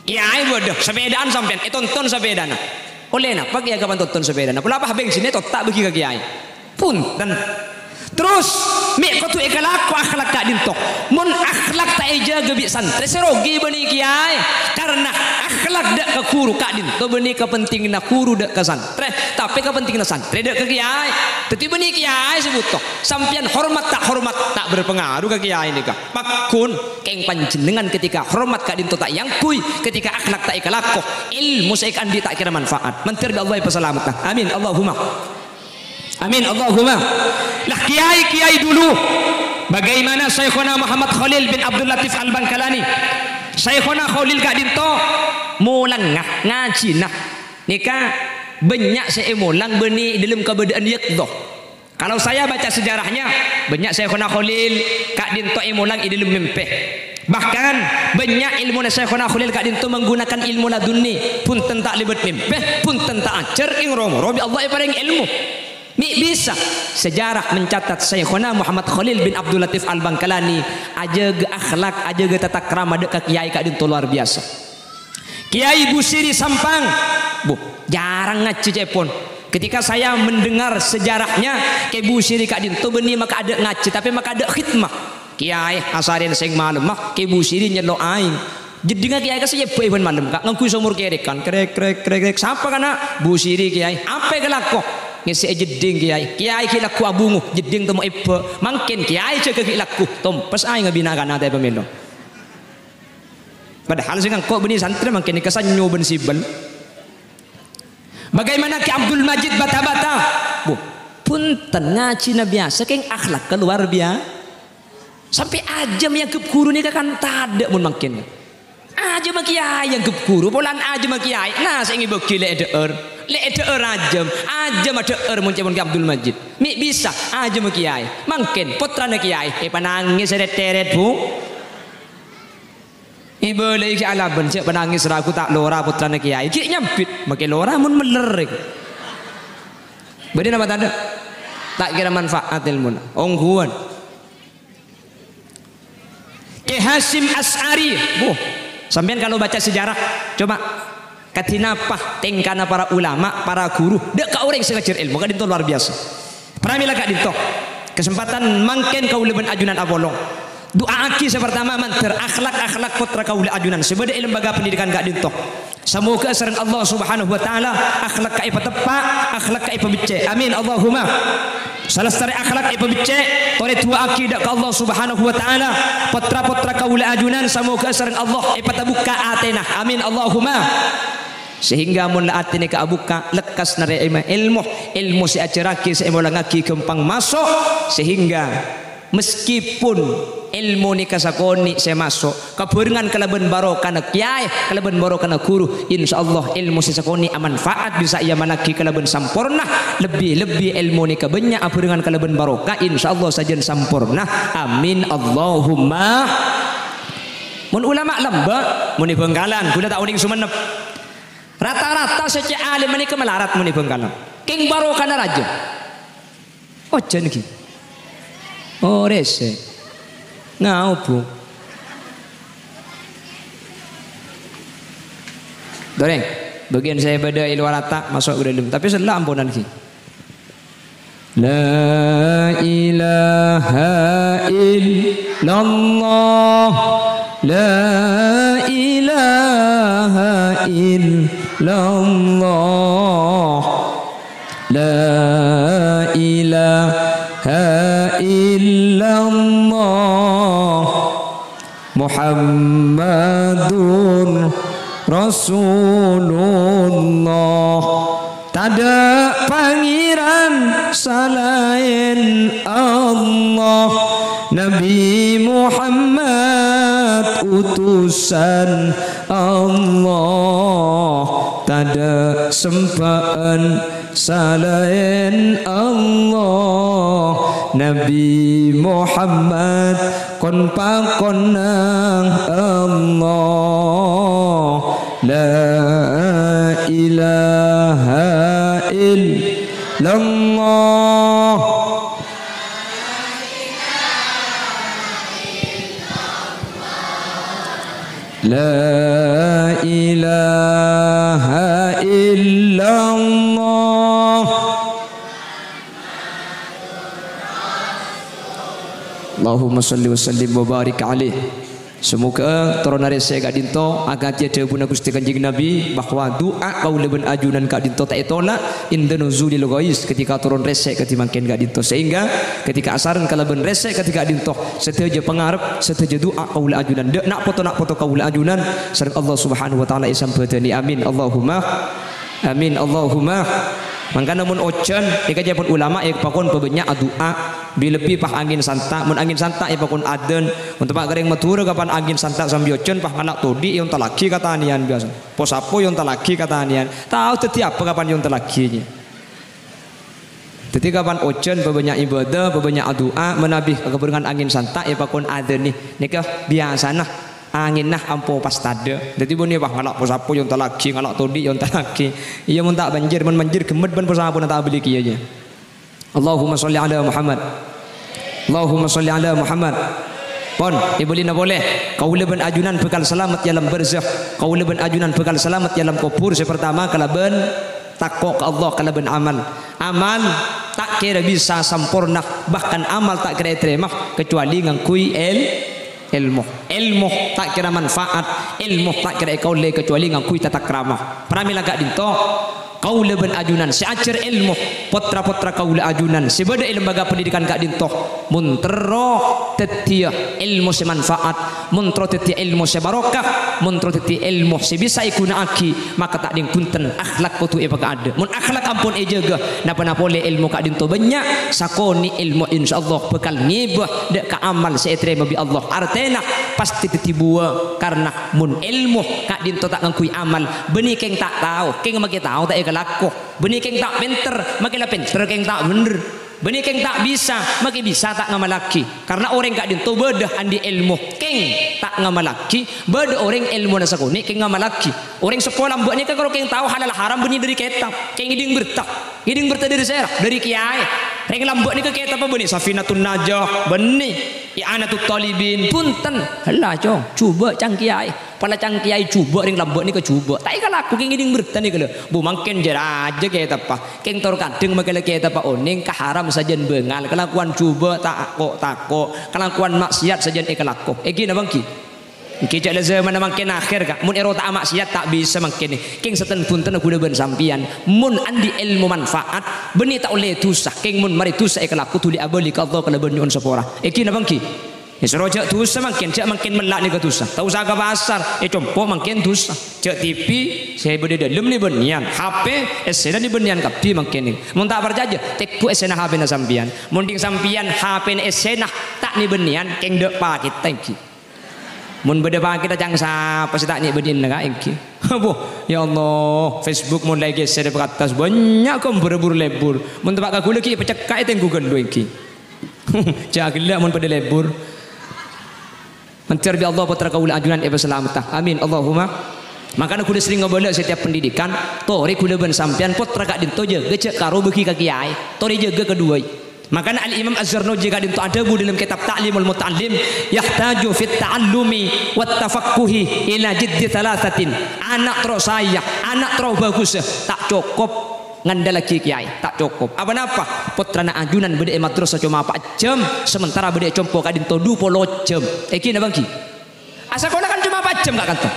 Kèyaè bâdâ, sapèdaan sampèyan, ètonton sapèdana. Ollè napa kèyaè kapan tonton sapèdana? Pola pas bensinna ètotta' bâgi ka kèyaè. Punten. Terros, mè' kodhu èkalako akhlak ka'dinto. Mon akhlak ta' èjâgâ bi' santrè, sè rogi bânnè kèyaè. Karna akhlak dâ' ka ghuru ka'dinto bânnè kapentinganna ghuru dâ' ka santrè, tapè kapentinganna santrè dâ' ka kèyaè. Dhâddhi bânnè kèyaè sè bhuto. Sampèyan hormat ta' hormat, ta' berpengaruh ka kèyaè nèka. Pagghun, kèng panjhennengngan ketika hormat ka'dinto ta' èangghuy, ketika akhlak ta' èkalako, èlmo sè èkaandi' ta' kèra manfaat. Mandhâr bi' Allah èpasalametta. Amin. Allahumma. Amin. Allahumma. Lah, kiai-kiai dulu, bagaimana Syaikhona Muhammad Khalil bin Abdul Latif Al-Bangkalani? Syaikhona Khalil ka'dinto molangnga, ngajhina. Nèka bânnya' sè èmolang bânnè è dâlem kabâdâ'ân yaqdhah. Kalau saya baca sejarahnya, bânnya' Syaikhona Khalil ka'dinto èmolang è dâlem mèmpè. Bahkan, bânnya' èlmona Syaikhona Khalil ka'dinto menggunakan ilmu ladunni, bhunten ta' lèbât mèmpè, bhunten ta' ajhâr, kèng ro-moro bi' Allah èparèng èlmo. Mè' bisa sejarah mencatat Syaikhona Muhammad Khalil bin Abdul Latif Al-Bangkalani ajâgâ akhlak, ajâgâ tatakrama dâ' ka kiai ka'dinto luar biasa. Kiai Busiri Sampang, bu, jarang ngajhi ca'èpon. Ketika saya mendengar sejarahnya, Kiai Busiri ka'dinto bânnè makaadâ' ngajhi, tapè makaadâ' khidmah. Kiai asarèn sèng malemma, Kiai Busiri nyello' aèng. Jeddhingnga kiai ka sè èbâ'è bân malem, Ka', ngangghuy somor kèrèkan. Krèk, krèk, krèk, krèk. Sapa, Ka', na'? Busiri, Kiai. Apa èkalako? Ngèssè'è jeddhing, Kiai. Kiai ghi' lagghu abhungo, jeddhing temmo èbâ'. Mangkèn kiai jâgâ ghi' lagghu, tompes aèng abinakana tapè mèlo. Padahal sè ngangko' bânnè santrè mangkèn nèka sannyo bân sibel. Bagaimana Ki Abdul Majid Bata-Bata? Bu, bhunten, ngajhina biyasa, kèng akhlakka luar biya-, sampè' ajâm èangghep ghuru nèka kan tadâ' mon mangkèn. Ajâmma kiai èangghep ghuru, polana ajâmma kiai, na sè ngèbâgi lè' è dhâ'âr. Lè' è dhâ'âr ajâm, ajâmma dhâ'âr mon ca'èpon Ki Abdul Majid. Mè' bisa, ajâmma kiai. Mangkèn, pottrana kiai, èpanangès rèt-tèrèt, Bu. Èbâlâi ghi' alabân, jhâ' panangès ragu ta' lora pottrana kiai. Ghi' nyambit, makè lora mon mèller. Bâdâ napa tadâ'? Ta' kèra manfaat èlmona. Ongghuwân. Hasyim Asy'ari. Wuh, sampèyan kalau baca sejarah, coba kadhi napa tèngkana para ulama, para guru, dâ' ka orèng sè ngajhâr èlmo, ka'dinto luar biasa. Pramèla ka'dinto, kesempatan mangkèn kaulâ bân ajunan apolong. Du'aaghi sè partama mandhâr akhlak-akhlak pottra kaulâ ajunan sè bâdâ è lembaga pendidikan ka'dinto. Samoghâ sareng Allah Subhanahu wa Ta'ala akhlakka èpateppa', akhlakka èpabeccè'. Amin, Allahumma. Salastarè akhlak èpabeccè', torè du'aaghi dâ' ka Allah Subhanahu wa Ta'ala, pottra-pottra kaulâ ajunan samoghâ sareng Allah èpatabukka' atèna. Amin, Allahumma. Sehingga mon la atèna èkabukka', lekkas narèma èlmo, èlmo sè èajhârraghi, sè èmolangaghi ghâmpang maso', sehingga meskipun èlmo nèka sakonè' sè maso', kabhârengan kalabân barokana kèyaè, kalabân barokana guru, insyaallah èlmo sè sakonè' amanfaat bisa èamallaghi kalabân samporna, lebbi-lebbi èlmo nèka bânnya' abhârengan kalabân barokah, insyaallah sajân samporna. Amin, Allahumma. Mon ulama lambâ', mon è Bhângkalan, ghulâ ta' onèng Sumenep. Rata-rata sè cè' alim nèka malarat mon è Bhângkalan. Kèng barokana rajâ. Ojhân ghi. Oh, rèsè'. Ngao, Bu. Torè, bâgiyân sè bâdâ è lowar ata' maso' ka dâlem. Tapè sella amponan ghi. La ilaha illallah. La ilaha illallah. La ilaha illallah. Muhammadur Rasulullah. Tadâ' pangèran salaèn Allah. Nabi Muhammad utusan Allah. Tadâ' sembhâ'ân salaèn Allah, Nabi Muhammad kon-pakonna Allah. La ilaha illallah. La ilaha illallah. Allahumma shalli wa sallim wa barik alaih. Samoghâ toronna rèsè' ka'dinto akadhi dhâbuna Ghustè Kanjeng Nabi bahwa du'a kaulâ bân ajunan ka'dinto ta' ètola' inda nuzulil ghais, ketika toron rèsè' kadhi mangkèn ka'dinto. Sehingga ketika asareng kalabân rèsè' kadhi ka'dinto, sadhâjâ pangarep, sadhâjâ du'a kaulâ ajunan, dâ' na' poto-na' poto kaulâ ajunan sareng Allah Subhanahu wa Ta'ala èsambhâdhâni. Amin. Allahumma amin. Allahumma. Mangkana mon ojhân, nèka ca'èpon ulama èpakon pabânnya' adu'a. Bi-, lebbi pas angèn santa', mon angèn santa' èpakon adzan. Mon tempa' ka rèng Madhurâ kapan angèn santa' sambi ojhân, pas ngala' todhi' èontallaghi ka tanèyan biyasa. Po-sapo èontallaghi ka tanèyan. Tao dhâddhi apa kapan èontallaghi, yâ. Dhâddhi, kapan ojhân pabânnya' ibadah, pabânnya' adu'a, manabi kabhârengan angèn santa' èpakon adzanè. Nèka biyasana angènna ampo pas tadâ'. Dhâddhi, bânnè, wah, ngala' po-sapo èontallaghi, ngala' todhi' èontallaghi. Iyâ, mon ta' manjhir, mon manjhir ghemmet bân po-sapona ta' abâli kèya, yâ. Allahumma shalli ala Muhammad. Allahumma shalli ala Muhammad. Pon, èbâlina polè. Kaulâ bân ajunan bhâkal salamet è alam barzakh. Kaulâ bân ajunan bhâkal salamet è alam kobhur sè partama kalabân tako' ka Allah, kalabân amal. Amal ta' kèra bisa samporna, bahkan amal ta' kèra ètarèma kecuali ngangghuy èl-, èlmo. Èlmo ta' kèra manfaat, èlmo ta' kèra èkaollè kecuali ngangghuy tatakrama. Pramèla ka'dinto, kaulâ bân ajunan sè ajhâr èlmo, potra-potra kaulâ ajunan sè bâdâ è lembaga pendidikan ka'dinto, mon terro dhâddhiyâ èlmo sè manfaat, mon terro dhâddhiyâ èlmo sè barokah, mon terro dhâddhiyâ èlmo sè bisa èghuna'aghi, maka ta' ding bhunten akhlak kodhu èpakaadâ'. Mon akhlak ampon èjâgâ, napa-napa polè èlmo ka'dinto bânnya', sakonè' èlmo insyaallah bhâkal ngèbâ dâ' ka amal sè ètarèma bi' Allah. Artèna, pastè dhâddhi buwâ, karna mon èlmo ka'dinto ta' ngangghuy amal, bânnè kèng ta' tao, kèng makè tao ta' èkalako. Bânnè kèng ta' pènter, makè la pènter kèng ta' bhendher. Bânnè kèng ta' bisa, makè bisa ta' ngamallaghi. Karna orèng ka'dinto bâdâ andi' èlmo, kèng ta' ngamallaghi, bâdâ orèng èlmona sakonè' kèng ngamallaghi. Orèng seppo lambâ' nèka karo kèng tao halal haram bânnè dâri kètab, kèng ngèdhing berta. Ngèdhing berta dâri sèra, dâri kèyaè. Rèng lambâ' nèka kètabbhâ bânnè Safinatun Najah, bânnè I'anatut Thalibin, bhunten. Ella, Cong, jhubâ' ca'na kèyaè. Pola ca'na kèyaè jhubâ', rèng lambâ' nèka jhubâ'. Ta' èkalako kèng ngèdhing bhertana nèka, lho. Bu, mangkèn jâ-rajâ kètabbhâ. Kèng tor kadhâng makè la kètabbhâ onèng ka haram sajân bângal. Kalakowan jhubâ' ta' ko-tako. Kalakowan maksiat sajân èkalako. Èngghi napa èngghi? Èngghi, jhâ' la jhâmanna mangkèn akhèr, Ka'. Mon èrota'a maksiat ta' bisa mangkèn. Kèng sèttong bhuntenna ghulâ bân sampèyan. Mon andi' èlmo manfaat, bânnè ta' ollè dhusa. Kèng mon marè dhusa èkalako dhuli abâli ka Allah kalabân nyo'on sapora. Èngghi napa èngghi? Èsoro jhâ' dhusa mangkèn, jhâ' mangkèn mella' nèka dhusa. Ta' osa ka pasar, ècompo' mangkèn dhusa. Jhâ' T V sè bâdâ è dâlem nè bânnèyan, H P essèna nè bânnèyan kabbhi mangkèn. Mon ta' parcajâ, tèngghu essèna H P-na sampèyan. Mon ding sampèyan H P-na essèna ta' nè bânnèyan, kèng dâ' pakètta èngghi. Mon bâdâ pakètta ca'na sapa sè ta' nè bânnèyanna, Ka', èngghi. Abbhu, ya Allah, Facebook mon la èghèsèr èpakattas, bânnya' ghâmbhârrâ bur-lèbur. Mon teppa' ka ghulâ ghi' èpacekka' ètèngghu ghâllu èngghi. Jhâ' ghellâ' mon padâ lèbur. Mandhâr bi' Allah pottra kaulâ ajunan èpasalamedhâ. Amin. Allahumma. Mangkana ghulâ serrèng ngabâlâ setiap pendidikan, torè ghulâ bân sampèyan pottra ka'dinto jâgâ jhâ' karo bâghi ka kèyaè. Torè jâgâ kaduwâi. Mangkana Al-Imam Az-Zarnuji ka'dinto adhâbu dâlem kètab Ta'limul Muta'allim, "Yahtaju fit ta'allumi wat tafaqquhi ila jiddi thalathatin." Ana' terro saèya, ana' terro bhâghussa, ta' cokop ngandhâllaghi kèyaè, ta' cokop. Apa-napa? Pottrana ajunan bâdâ è madrasah coma pa' jhâm, sementara bâdâ è compo' ka'dinto du polo jhâm. Èngghi napa èngghi? Asakola kan coma pa' jhâm, Ka', kanto.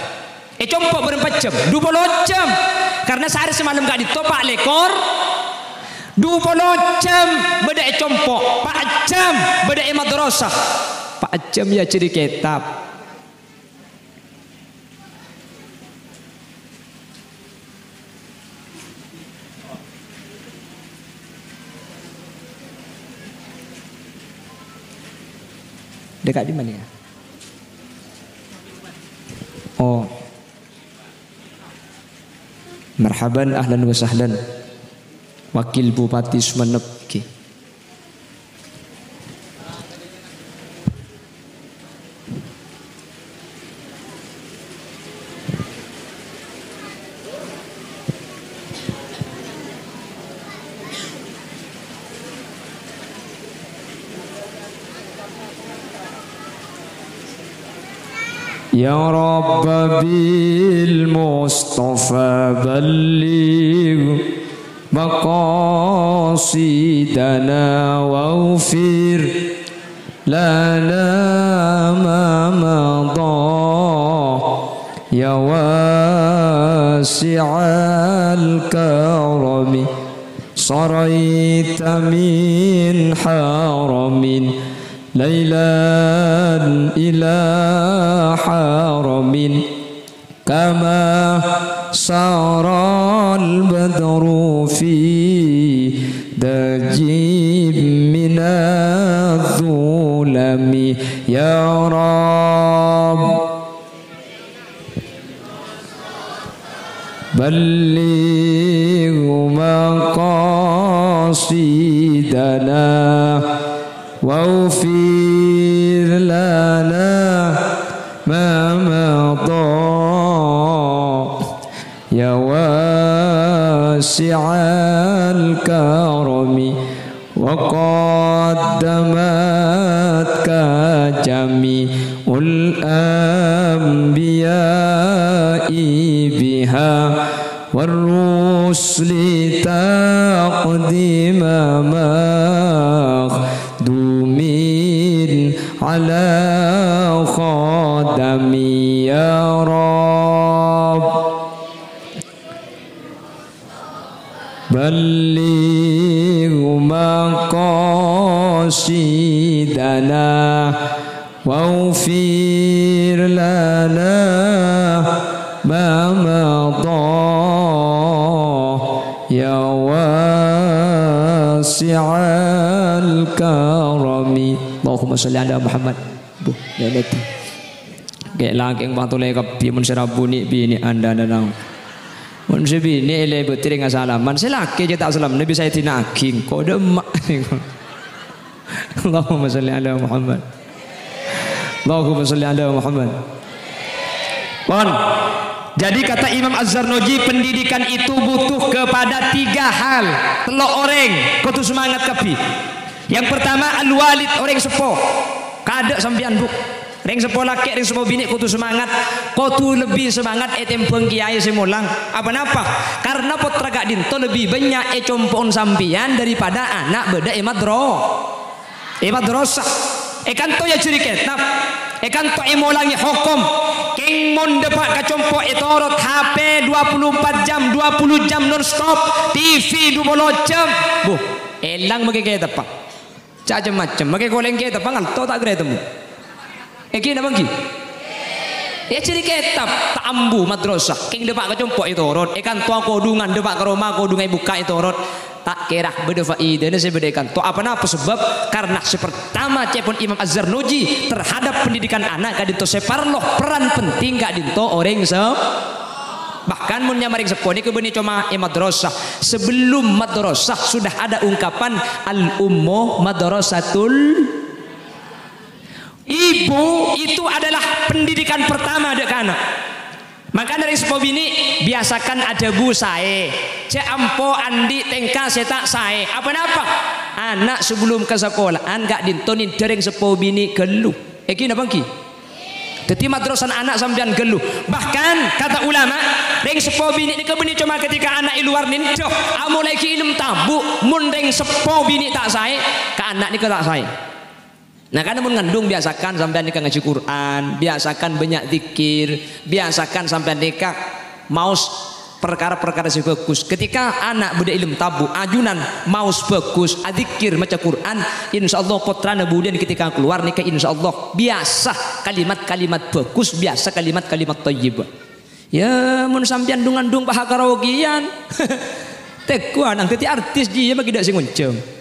È compo' bârâmpa jhâm? Du polo jhâm. Karna saarè samalem ka'dinto pa' lèkor. Du polo jhâm bâdâ è compo', pa' jhâm bâdâ è madrasah. Pa' jhâm èajhâri kètab. Dekat di mana ya? Oh. Marhaban, ahlan wa sahlan. Wakil Bupati Sumenep. Oke. يا رب بالمصطفى بلغ مقاصدنا واغفر لنا ما مضى يا واسع الكرم. سريت من حرم ليلا إلى حرم كما سرى البدر في دجى من الظلم. يا رب بلغ مقاصدنا واغفر لنا ما مضى يا واسع الكرم. وقدمتك جميع الأنبياء بها والرسل تقديم مخدوم على خدم. يا رب بلغ مقاصدنا واغفر لنا ما مضى يا واسع الكرم. اللهم صل على محمد. Bu, lèlèt. Kè' lakè' patolè kabbhi, mon sè rabu nè' binè' andana naon. Mon sè binè' èlèbâdhi rèng asalaman, sè lakè' jhâ' ta' salam, Nabi Sayyidina Aging, kodâ emma'. Allahumma shalli ala Muhammad. Allahumma shalli ala Muhammad. Pon. Jadi, kata Imam Az-Zarnuji, pendidikan itu butuh kepada tiga hal. Tello' orèng kodhu semangat kabbhi. Yang pertama, al-walid, orèng seppo. Kaadâ' sampèyan, Bu. Rèng seppo lakè', rèng seppo binè' kodhu semangat. Kodhu lebbi semangat ètèmbhâng kèyaè sè molang. Apa napa? Karena pottra ka'dinto lebbi bânnya' ècompo'on sampèyan daripada ana' bâdâ è madro-, è madrasah. È kanto èajhâri kètab. È kanto èmolangè hokom. Kèng mon dâpa' ka compo' ètorot, H P dua puluh empat jam, dua puluh jam nonstop, T V dua puluh jam. Bu, èlang makè kètabbhâ. Cem-macem, makè kolèng kètabbhâ ngalto ta' kèra ètemmo. Èngghi napa èngghi? Èajhâri kètab, ta' ambu madrasah, kèng dâpa' ka compo' ètorot, è kanto akodhungan, dâpa' ka roma akodhungan èbukka' ètorot. Ta' kèra bâdâ faèdana sè bâdâ è kanto. Apa napa sebab? Karena sè pertama, ca'èpon Imam Az-Zarnuji, terhadap pendidikan ana' ka'dinto sè parlo peran penting ka'dinto orèng sè-, Bahkan mon nyama rèng seppo nèka bânnè coma è madrasah. Sebelum madrasah sudah ada ungkapan, "Al-ummu madrasatul." Ibu itu adalah pendidikan pertama dâ' ka ana'. Mangkana rèng seppo binè', biasakan adhâbu saè. Jhâ' ampo andi' tèngka sè ta' saè. Apa napa? Ana' sebelum ka sakola'an ka'dinto nèndhâ rèng seppo binè' ghâllu. Èngghi napa èngghi? Dhâddhi madrasana ana' sampèyan ghâllu. Bahkan, kata ulama, rèng seppo binè' nèka bânnè coma ketika ana' è lowar nèndhâ, amolaè ghi' èlem tabu', mon rèng seppo binè' ta' saè, ka ana' nèka ta' saè. Nah, karena mon ngandung, biasakan sampèyan nèka ngajhi Qur'an, biasakan bânnya' dzikir, biasakan sampèyan nèka maos parkara-parkara sè bhâghus. Ketika ana' bâdâ è lem tabu', ajunan maos bhâghus, adzikir, maca Qur'an, insyaallah pottrana budiyân ketika kalowar nèka insyaallah biyasa kalimat-kalimat bhâghus, biyasa kalimat-kalimat thayyibah. Ya, mon sampèyan dhung-andhung paha karaokean, teggu' ana' dhâddhi artis jiyâ ma' ghi' tadâ' sè ngonjhâng.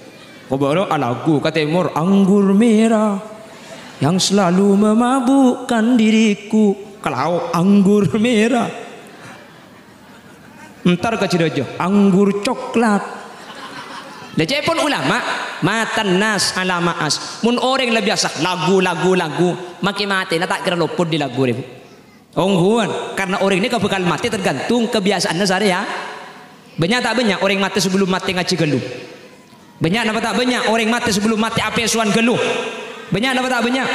Kobârâ alagu ka tèmor, "Anggur merah yang selalu memabukkan diriku." Ka lao', "Anggur merah." Entar ka Jhârâjâ, "Anggur coklat." Lah, ca'èpon ulama, "Matan nas ala ma'as." Mon orèng la biyasa lagu, lagu, lagu, makè matèna ta' kèra lopot dâri lagu rè, Bu. Ongghuwân, karena orèng nèka bhâkal matè tergantung kabiyasa'anna sarè, ya. Bânnya' ta' bânnya' orèng matè sabellum matè ngajhi ghâllu? Bânnya' napa ta' bânnya' orèng matè sabellum matè apèsowan ghâllu? Bânnya' napa ta' bânnya'?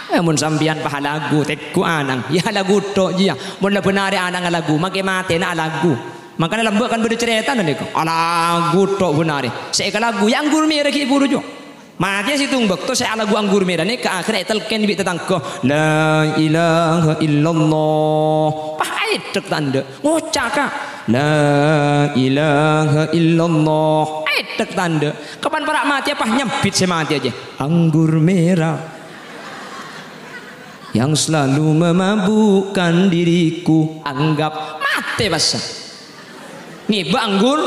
Eh, mon sampèyan paha lagu, teggu' anang. Ya, lagu tok jiyâ. Mon la bân arè anang alagu, makè matèna alagu. Mangkana lambâ' kan bâdâ carètana nèka. Alagu tok bân arè. Sè èkalagu, ya anggur merah ghi' buru jiyâ. Matèya sèttong bâkto sè alagu anggur merah nèka akhèrra ètalkèn bi' tatangghâ, "La ilaha illallah." Pas aèdhek ta' endâ'. Ngoca', Ka', "La ilaha illallah." Aèdhek ta' endâ'. Kapan para' matèya pas nyambit sè matèya jiyâ. "Anggur merah yang selalu memabukkan diriku." Anggap matè passa. Ngèbâ anggur.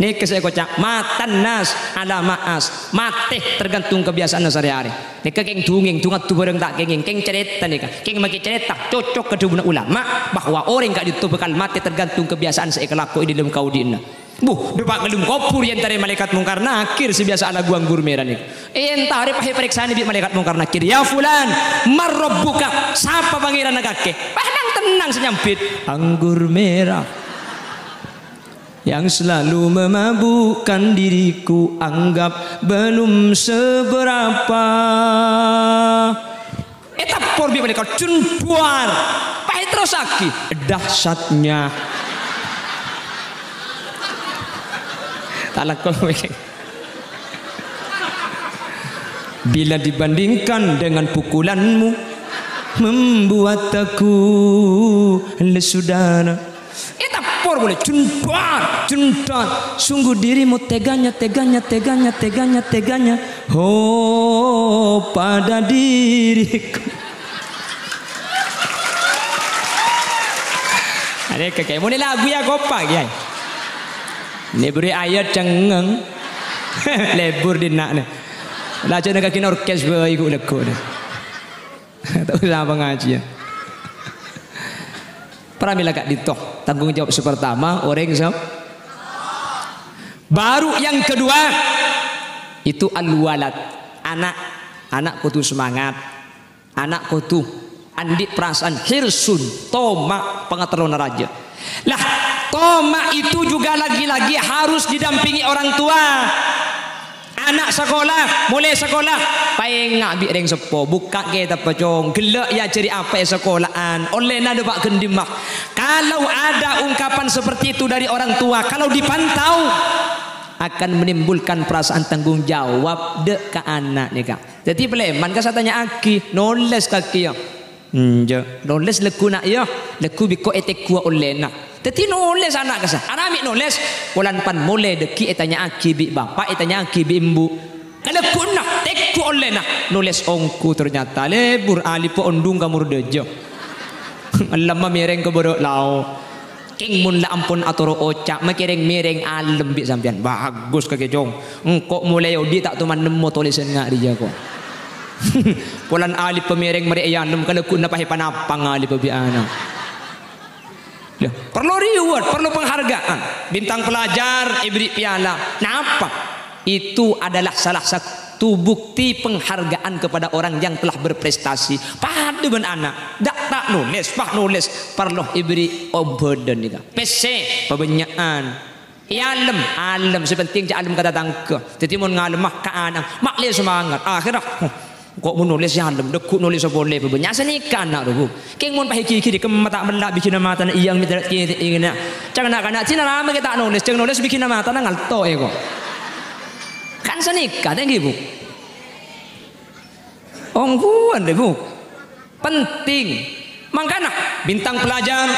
Nèka sè èkoca', "Matan nas ala ma'as." Matè tergantung kabiyasa'anna sarè-arè. Nèka kèng dongèng, dongadu bhârâng ta' kèngèng. Kèng carèta nèka. Kèng makè carèta, cocok ka dhâbuna ulama bahwa orèng ka'dinto bhâkal matè tergantung kabiyasa'an sè èkalakoè è dâlem kaodi'na. Bu, dâpa' ka dâlem kobhur èentarè malaèkat Mungkar Nakir sè biyasa alagu anggur merah nèka. Èentarè pas èparèksanè bi' malaèkat Mungkar Nakir, "Ya fulan, man rabbuka? Sapa pangèranna kakè?" Pas nang-tennang sè nyambit, "Anggur merah yang selalu memabukkan diriku, anggap belum seberapa." Ètèpor bi' malaèkat, "Jun buar." Pas èterrossaghi, "Dahsyatnya." Ta' lako. "Bila dibandingkan dengan pukulanmu, membuat aku lesu dana." Ètèpor polè, "Jun buar, jun dar. Sungguh dirimu teganya, teganya, teganya, teganya, teganya. Ho, pada diriku." Arè kakè, mon lagu ya kopa, Kèyaè. Nè buru ayat cengeng. Lebur dinna' nè. Lajunna kakè orkes bhâi ghu' lagghu' nè. Ta' osa pangajiyân. Pramila ka'dinto, tanggung jawab sè pertama, orèng sè-, baru yang kedua, itu al-walad, ana'. Ana' kodhu semangat. Ana' kodhu, Andi' perasaan hirsun, toma', pangaterrona rajâ. Lah, toma' itu juga lagi-lagi harus didampingi orang tua. Ana' sakola, molaè sakola, paènga' bi' rèng seppo, bukka' kètabbhâ, Cong. Ghellâ' èajhâri apa è sakola'an, ollèna dâpa' ghândhimma. Kalau ada ungkapan seperti itu dari orang tua, kalau dipantau, akan menimbulkan perasaan tanggung jawab dâ' ka ana' nèka. Dhâddhi palèman ka satanya'aghi, nolès kakè, yâ. Enjâ', nolès lagghuna, yâ, lagghu bi' engko' ètegghuwâ ollèna. Dhâddhi nolès ana' kassa', arapa mè' nolès, polana pan molè dhâggi' ètanya'aghi bi' bapa', ètanya'aghi bi' embu'. Kalagghuna, tegghu' ollèna, nolès ongghu ternyata, lebur alibbhâ onḍhung ka mor ḍâjâ. Ngallemma mèrèng ka bârâ' lao. Kèng mon la ampon atoro' oca', makè rèng-mèrèng alem bi' sampèyan. Bagus kakè, Cong. Engko' molaè oḍi' ta' toman nemmo tolèsan nga' rèya, ko'. Polana alibbhâ mèrèng marè èalem, kalagghuna pas èpanapa ngalibbhâ bi' ana'. Lah, parlo reward, parlo penghargaan. Bintang pelajar èberri' piala. Napa? Itu adalah salah satu bukti penghargaan kepada orang yang telah berprestasi. Paḍâ bân ana', ḍâ' ta' nolès, pas nolès, parlo èberri' ombhâdhân nèka. Pèssè, pabânnya'an. Èalem, alem, sè pentèng jhâ' alem ka tatangghâ. Dhâddhi mon ngalemma ka ana', ma'lè semangat. Akhèrra, huh, ko' mon nolès èalem, ḍâgghu' nolès polè, pabânnya'. Sanèka ana', ro, Bu. Kèng mon pas èghighiri, kemma ta' mella' bigina matana, iyang mètèra' kètè' èngèna. Ca'na na'-kana', "Dinah rama kè ta' nolès, jhâng nolès bigina matana ngalto, è, ko'." Kan sanèka, tèngghi, Bu. Ongghuwân, rè, Bu. Penting. Mangkana, bintang pelajar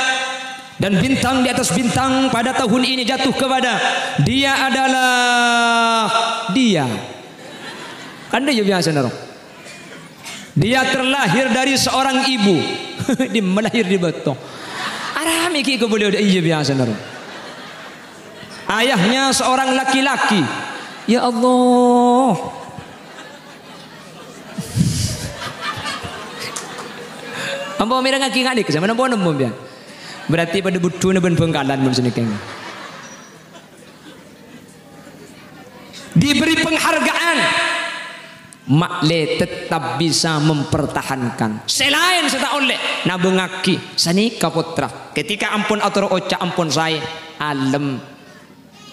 dan bintang di atas bintang pada tahun ini jatuh kepada dia adalah dia. Kan ḍâjâ biyasana, ro. Dia terlahir dari seorang ibu. Ḍimma lahir ḍi bâto. Arapa mè' ghi' kabâlâ ḍâ' iyâ biyasana, ro. Ayahnya seorang laki-laki. Ya Allah. Ampo mèrengngaghi nga' nèka, sampèyan ampo nemmo, sampèyan. Berarti paḍâ buḍḍhuna bân Bhângkalan mon sanèka. Diberi penghargaan, ma'lè tetap bisa mempertahankan. Sè laèn sè ta' ollè, nabungngaghi. Sanèka pottra. Ketika ampon atoro' oca', ampon saè, alem.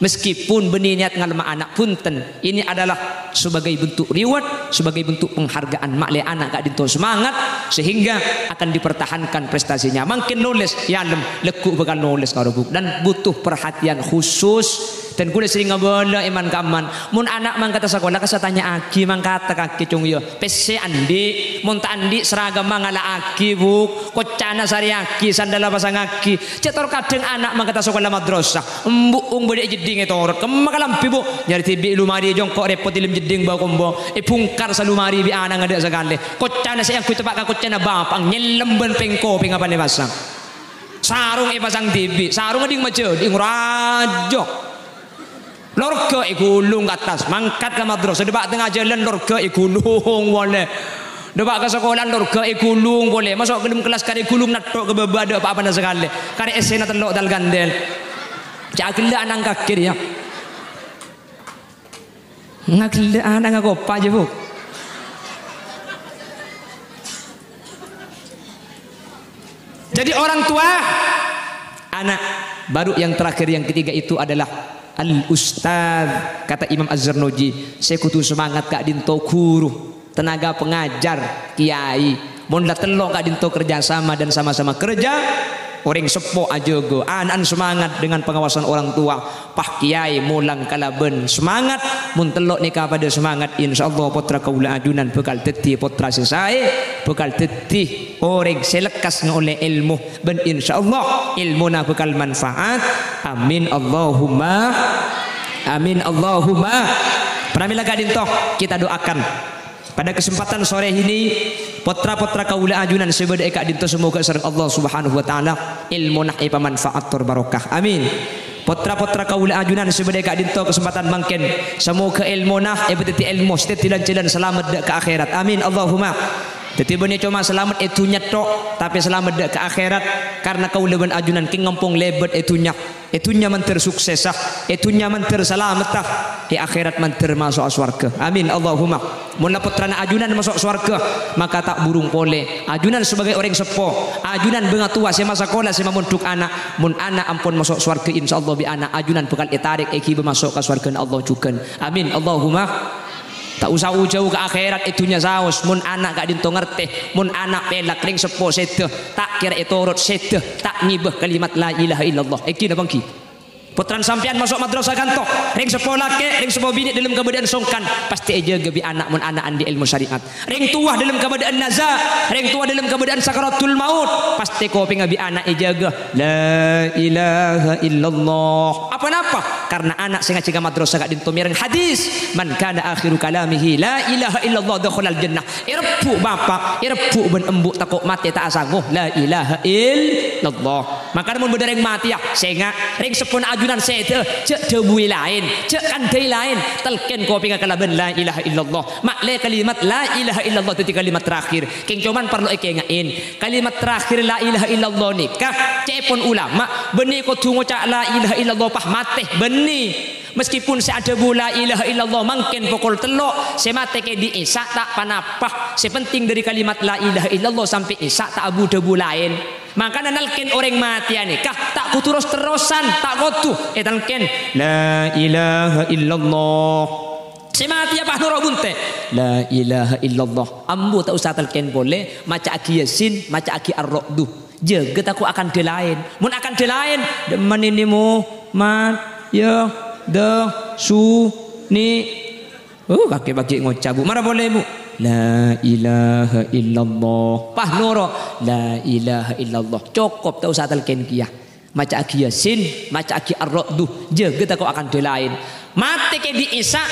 Meskipun bânnè niat ngalemma ana', bhunten, ini adalah sebagai bentuk reward, sebagai bentuk penghargaan. Ma'lè ana' ka'ḍinto semangat, sehingga akan dipertahankan prestasinya. Mangkèn nolès, èalem, lagghu' bhâkal nolès karo buku. Dan butuh perhatian khusus. Dan kaulâ serrèng abâlâ è man-kamman. Mon ana' mangkata sakola, kassa' tanya'aghi, mangkata kakè, Cong, yâ. Pèssè anḍi', mon ta' anḍi' seragamma ngala'aghi, Bu. Koccana sarèyaghi, sandalla pasangngaghi. Cè' tor kadhâng ana' mangkata sakola madrasah. Embu' ong bâḍâ è jeḍḍhing ètorot. Kemma kalambhi, Bu? Nyarè dhibi' è lomari, jhungko' rèpot è ḍâlem jeḍḍhing bâ-kombâ. Èbhungkar salomari bi' ana' ngaḍâ' sakalè. Koccana sè èangghuy teppa' ka koccana bapa', nyellem bân pèng-kopèng apa nè pasang. Sarong èpasang dhibi', sarong ḍing majâḍing rajâ. Lorghâ èghulung ka attas, mangkat ka madrasah, ḍâpa' tengnga jhâlân lorghâ èghulung polè. Ḍâpa' ka sakola lorghâ èghulung polè. Maso' ḍâlem kellas karè èghulung nètto' ka bâbâ, ḍâ' pa-apana sakalè. Karè essèna tello' tal-kandel. Cè' aghellâ' ana' kakè rèya. Ngaghellâ' ana' ngakopa jâ, Bu. Jadi orang tua, ana', baru yang terakhir, yang ketiga itu adalah al-ustadz. Kata Imam Az-Zarnuji, sè kodhu semangat ka'ḍinto ghuru, tenaga pengajar, kiai. Mon la tello' ka'ḍinto kerja sama dan sama-sama kerja, orèng seppo ajâgâ, ana'na semangat dengan pengawasan orang tua. Pas kiai molang kalabân semangat, mon tello' nèka paḍâ semangat, insyaallah pottra kaulâ ajunan bhâkal dhâddhi pottra sè saè, bhâkal dhâddhi orèng sè lekkas ngaollè èlmo, bân insyaallah èlmona bhâkal manfaat. Amin, Allahumma amin, Allahumma. Pramila ka'ḍinto kita doakan. Pada kesempatan sore ini, pottra-pottra kaulâ ajunan sè bâḍâ è ka'ḍinto, semoga sareng Allah Subhanahu wa Ta'ala èlmona èpamanfaat tor barokah. Amin. Pottra-pottra kaulâ ajunan sè bâḍâ è ka'ḍinto kesempatan mangkèn, semoga èlmona èpadhâddhi èlmo sè dhâddhi lan-jhâlân salamet ḍâ' ka akhèrat. Amin. Allahumma. Dhâddhi bânnè coma salamet è dhunnya tok, tapè salamet dâ' ka akhèrat, karna kaulâ bân ajunan kèng ngampong lèbât è dhunnya. È dhunnya mandhâr suksessa, è dhunnya mandhâr salametta, è akhèrat mandhâr maso'a sowarghâ. Amin, Allahumma. Mon la pottrana ajunan maso' sowarghâ, maka ta' burung polè. Ajunan sabâgâi orèng seppo, ajunan bângatowa sè masakola sè mamondhuk ana', mon ana' ampon maso' sowarghâ, insyaallah bi' ana' ajunan bhâkal ètarèk èghibâ maso' ka sowarghâna Allah jhughân. Amin, Allahumma. Ta' osa jâu ka akhèrat, è dhunnya saos. Mon ana' ka'dinto ngartè, mon ana' pèlak, rèng seppo sèdhâ, ta' kèra ètorot sèdhâ, ta' ngibâ kalimat la ilaha illallah. Èngghi napa èngghi? Pottrana sampèyan maso' madrasah kanto, rèng seppo lakè', rèng seppo binè' dâlem kabâdâ'ân songkan, pastè èjâgâ bi' ana' mon ana' andi' èlmo syariat. Rèng towa dâlem kabâdâ'ân naza, rèng towa dâlem kabâdâ'ân sakaratul maut, pastè kopèngnga bi' ana' èjâgâ. La ilaha illallah. Apa napa? Karna ana' sè ngajhi ka madrasah ka'dinto mèreng hadis, "Man kana akhiru kalamihi la ilaha illallah dakhalal jannah." Èrebbhu' bapa', èrebbhu' bân embu' tako' matè ta' asango la ilaha illallah. Makana mon bâdâ rèng matèya, sènga', rèng seppona ajunan sèdhâ, jhâ' dhâbuwi laèn, jhâ' kandhâi laèn, talkèn kopèngnga kalabân la ilaha illallah. Ma'lè kalimat la ilaha illallah dhâddhi kalimat terakhir. Kèng coman parlo èkaènga'è, kalimat terakhir la ilaha illallah nèka, ca'èpon ulama, bânnè kodhu ngoca' la ilaha illallah pas matè, bânnè. Meskipun sè adhâbu la ilaha illallah mangkèn pokol tello', sè matè kèdhi' Isya ta' pa-napa. Sè penting dhâri kalimat la ilaha illallah sampè' Isya ta' abu-dhâbu laèn. Mangkana nalkèn orèng matèya nèka ta' kodhu ros-terrosan, ta' kodhu ètalkèn, "La ilaha illallah." Sè matèya pas noro' bunte', "La ilaha illallah." Ambu ta' osa talkèn polè, maca'aghi Yasin, maca'aghi Ar-Ra'du. Jâgâ tako' akandhâ laèn. Mon akandhâ laèn, "Dâmma nènè mo, mat, ya, da, su, ni." Oh, kakè paghi' ngoca', Bu. Mara polè, Bu. "La ilaha illallah." Pas noro', "La ilaha illallah." Cokop, ta' osa talkèn kèya. Maca'aghi Yasin, maca'aghi Ar-Ra'du. Jâgâ tako' akandhâ laèn. Matè kèdhi' Isya,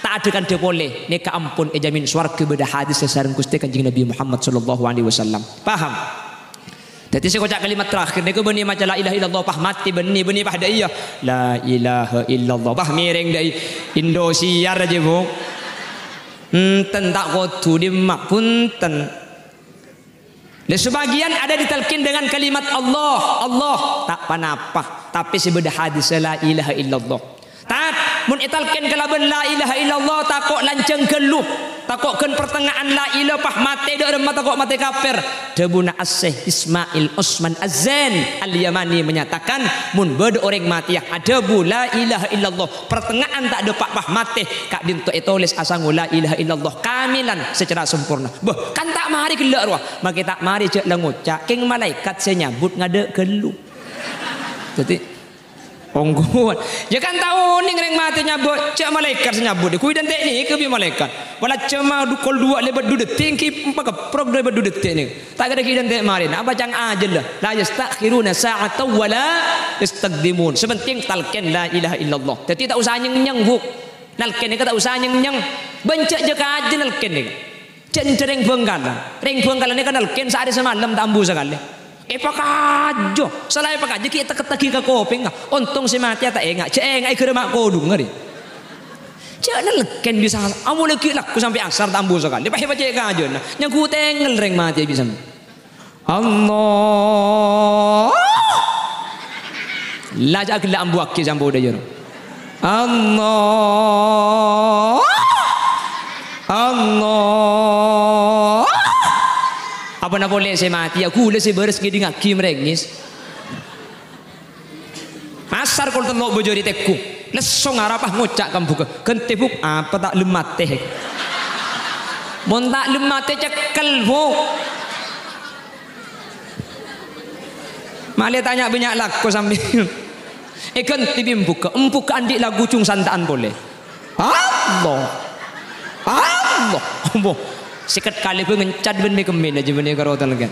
ta' adhâ kandhâ polè. Nèka ampon èjamin sowarghâ bâdâ hadis sareng Ghustè Kanjeng Nabi Muhammad sallallahu alaihi wasallam. Paham? Dhâddhi sè ngoca' kalimat terakhir nèko bânnè maca la ilaha illallah pas matè bânnè, bânnè pas dâ' iyâ. La ilaha illallah. Pas mèrèng dâ' iyâ. Indosiar ajâ, Bu. Enten ta' kodhu dâmma, punten. Lè, sebagian ada ditalkin dengan kalimat Allah, Allah. Ta' pa-napa. Tapè sè bâdâ hadis la ilaha illallah. Tat, mon ètalkèn kalabân la ilaha illallah, tako' lanjhâng ghâllu, tako' ghân partengnga'an la ilaha pas matè dâ' remma tako' matè kafir. Dhâbuna Asy-Syaikh Ismail Osman Az-Zain Al-Yamani menyatakan, mon bâdâ orèng matèya adhâbu la ilaha illallah, partengnga'an ta' dâpa' pas matè, ka'dinto ètolès asango la ilaha illallah kamilan secara sempurna. Bâh, kan ta' marè ghellâ' rowa, makè ta' marè jhâ' la ngoca', kèng malaèkat sè nyabut ngadâ' ghâllu. Dhâddhi, Ongghuwân. Yâ kan ta' onèng rèng matè nyabut, jhâ' malaèkat sè nyabut. Ghuy dântè' nèka bi' malaèkat. Pola jhâmma du-, kol duwâ' lèbât du dettè', èngghi pakeprok lèbât du dettè' nèka. Ta' kèra ghi' dântè' marèna. Apa ca'na ajâlla? "La yasta'khiruna sa'atan wa la yastaqdimun." Sè penting talkèn la ilaha illallah. Dhâddhi ta' osa nyèng-nyèng, Bu. Nalkèn nèka ta' osa nyèng-nyèng. Bân jhâ' jâ-kajâ nalkèn nèka. Jhâ' nèka rèng Bhângkalan. Rèng Bhângkalan nèka nalkèn saarè samalem ta' ambu sakalè. Èpakajâ, sala èpakajâ ghi' ètek-ketteghi ka kopèngnga. Ontong sè matèya ta' enga', jhâ' enga' è ghârâ ma' kodhung arè. Jhâ' nalkèn bisa, amolè ghi' lagghu sampè' asar ta' ambu sakalè. Pas èpacè' kajâna, nyangghu tengngel rèng matèya bisa. Allah. La jhâ' ghellâ' ambuwâghi sampè' dâjâr. Allah. Allah. Apa napa polè sè matè, yâ ghulâ sè bârâs ngèdingngaghi marèngès. Asar kol tello' bâjâri tegghu. Lesso ngarapa ngoca' ka embughâ. "Ghântè, Bu', apa ta' lem matè?" "Mon ta' lem matè, cekkel, Bu'." Malè tanya bânnya' lako sampèyan. Èghântè bi' embughâ. Embughâ andi' lagu jhung santa'an polè. Allah. Allah. Ambo. Sèket kalè bhâi ngencat bân mè-kemmèn ajâ bânnè karo talèngghâ.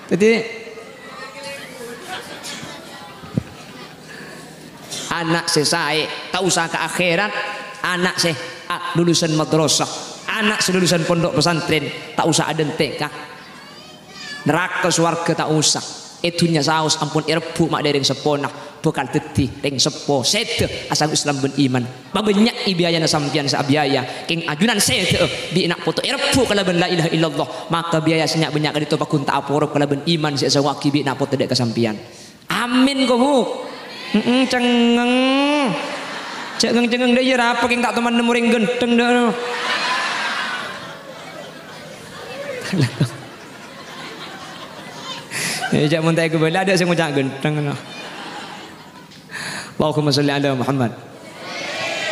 Dhâddhi, ana' sè saè, ta' osa ka akhèrat, ana' sè, a, lulusan madrasah, ana' sè lulusan pondhuk pesantren, ta' osa adântè' ka naraka sowarghâ ta' osa. È dhunnya saos ampon èrebbhu' ma' dâreng seppona. bhâkal dhâddhi rèng seppo sèdhâ asanggup Islam bân iman. Pabânnya'è biayana sampèyan sè abiaya. Kèng ajunan sèdhâ'â bi' na' poto èrebbhu kalabân la ilaha illallah, maka biaya sè nya'-bânnya' ka'dinto pagghun ta' aporop kalabân iman sè èsangowaghi bi' na' poto dâ' ka sampèyan. Amin, ko, Bu. Heeh, cengngeng. Cengngeng-cengngeng dâ' iyâ, arapa kèng ta' toman nemmo orèng ghântheng dâ'. Eh, jhâ' mon ta' èkabâlâ, adâ' sè ngoca' ghântheng, no. Allahumma sholli ala Muhammad.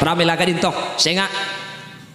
Pramèla ka'dinto, sènga'.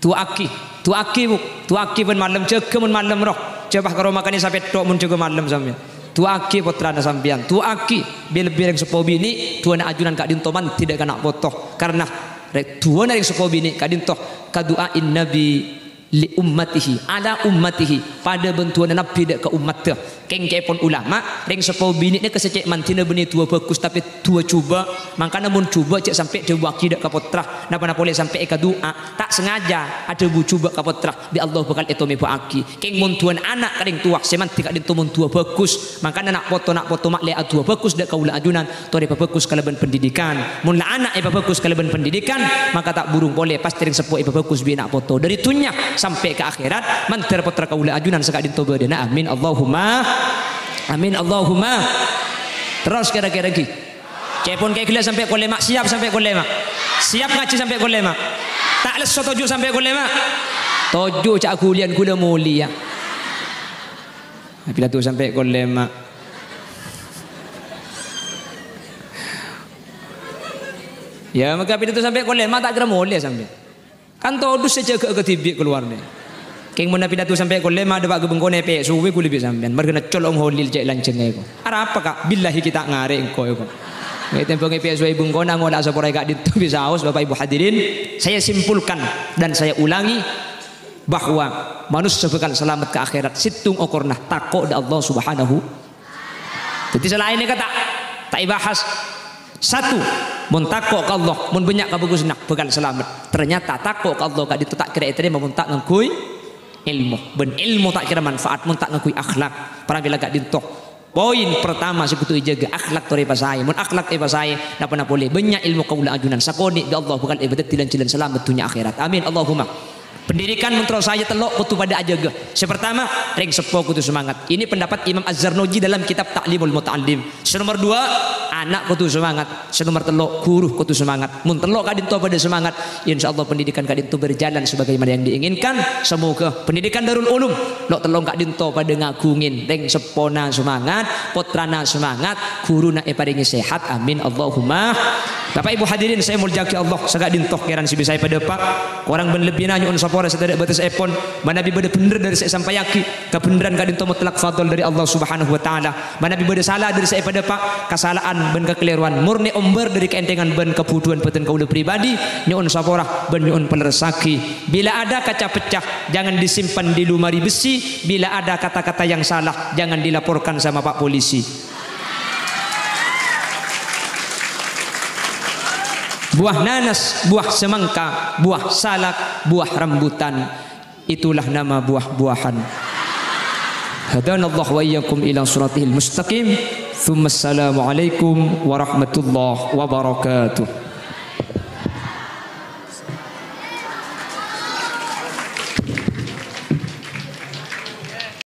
Du'aaghi, du'aaghi, Bu. Du'aaghi bân malem, jâgâ mon malem, ro. Jhâ' pas karo makanè sapètto' mon jâgâ malem sampèyan. Du'aaghi pottrana sampèyan. Du'aaghi, bi-, lebbi rèng seppo binè', du'ana ajunan ka'dinto mandhi dâ' ka na' poto. Karna rè-, du'ana rèng seppo binè' ka'dinto kadu'ain Nabi li ummatihi, ala ummatihi, padâ bân du'ana Nabbhi dâ' ka ommaddhâ. Kèng ca'èpon ulama, rèng seppo binè' nèka sè cè' mandhina bânnè du'a bhâghus, tapè du'a jhubâ'. Mangkana mon jhubâ' jhâ' sampè' dhâbuwâghi dâ' ka pottra, napa-napa polè sampè' èkadu'a, ta' sengaja adhâbu jhubâ' ka pottra, bi' Allah bhâkal ètomèbâ'âghi. Kèng mon du'ana ana' ka rèng towa sè mandhi ka'dinto mon du'a bhâghus, mangkana na' poto-na' poto ma'lè adu'a bhâghus dâ' kaulâ ajunan, torè pabhâghus kalabân pendidikan. Mon la ana' èpabhâghus kalabân pendidikan, maka ta' burung polè pastè rèng seppo èpabhâghus bi' na' poto. Dâri dhunnya sampè' ka akhèrat, mandhâr pottra kaulâ ajunan saka'dinto bâdâna. Amin, Allahumma. Amin, Allahumma. Terros kèra-kèra ghi. Ca'èpon kèya ghellâ' sampè' kol lèma', siap sampè' kol lèma'. Siap ngajhi sampè' kol lèma'. Ta' lesso toju' sampè' kol lèma'. Toju' jhâ' aghuliyân ghulâ molèya. Pidato sampè' kol lèma'. Yâ, maka pidato sampè' kol lèma' ta' kèra molè sampè'. Kan todus sè jâgâ kadhibi' kalowarna. Kèng mon pidato sampè' kol lèma' dâpa' ka bengkona èpèsowè ghulâ bi' sampèyan. Marghâna colo'na Holil cè' lanjhângnga èko. Arapa, Ka'? Billahi ghi' ta' ngarè' engko' èko. Ètèmbhâng èpèsowè bengkona ngola'a saporana ka'dinto bi' saos, Bapak Ibu hadirin. Saya simpulkan dan saya ulangi bahwa manossa bhâkal salamet ka akhèrat sèttong okorna tako' dâ' Allah Subhanahu. Dhâddhi sè laèn nèka ta', ta' èbahas. Satu, mon tako' ka Allah, mon bânnya' kabhâghusânna, bhâkal salamet. Ternyata tako' ka Allah ka'dinto ta' kèra ètarèma mon ta' ngangghuy èlmo. Bân èlmo ta' kèra manfaat mon ta' ngangghuy akhlak. Pramèla ka'dinto. Poin pertama sè kodhu èjâgâ, akhlak torè èpasaè. Mon akhlak èpasaè, napa-napa polè. Bânnya' èlmo kaulâ ajunan. Sakonè' bi' Allah bhâkal èpadhâddhi lan-jhâlân salamet dhunnya akhèrat. Amin. Allahumma. Pendidikan mon terro saè tello' kodhu padâ ajâgâ. Sè pertama, rèng seppo kodhu semangat. Ini pendapat Imam Az-Zarnuji dalam kitab Ta'limul Muta'allim. Sè nomor dua, ana' kodhu semangat. Sè nomor tello', ghuru kodhu semangat. Mon tello' ka'dinto padâ semangat, insyaallah pendidikan ka'dinto berjalan sebagaimana yang diinginkan. Semoga pendidikan Darul Ulum, lo' tello' ka'dinto padâ ngaghungè. Rèng seppona semangat, pottrana semangat, ghuruna èparèngè sehat. Amin. Allahumma. Bapak Ibu hadirin sè èmoljâ'aghi Allah, saka'dinto kèran sè bisa èpadâpa'. Korang bân lebbina nyo'on sapora sè tadâ' bâtessèpon. Manabi bâdâ bhendher dâri sè èsampayaghi, kabhendherran ka'dinto mutlak fadl dâri Allah Subhanahu wa Ta'ala. Manabi bâdâ sala dâri sè èpadâpa', kasala'an bân kakalèrowan mornè ombâr dâri kaèntengan bân kabhudhuwân bâdân kaulâ pribadi, nyo'on sapora bân nyo'on palerressaghi. Bila ada kaca pecah, jangan disimpan di lemari besi. Bila ada kata-kata yang salah, jangan dilaporkan sama Pak Polisi. Buah nanas, buah semangka, buah salak, buah rambutan. Itulah nama buah-buahan. Hadanallah wa iyyakum ila siratihil mustaqim. Tsumma assalamualaikum warahmatullahi wabarakatuh.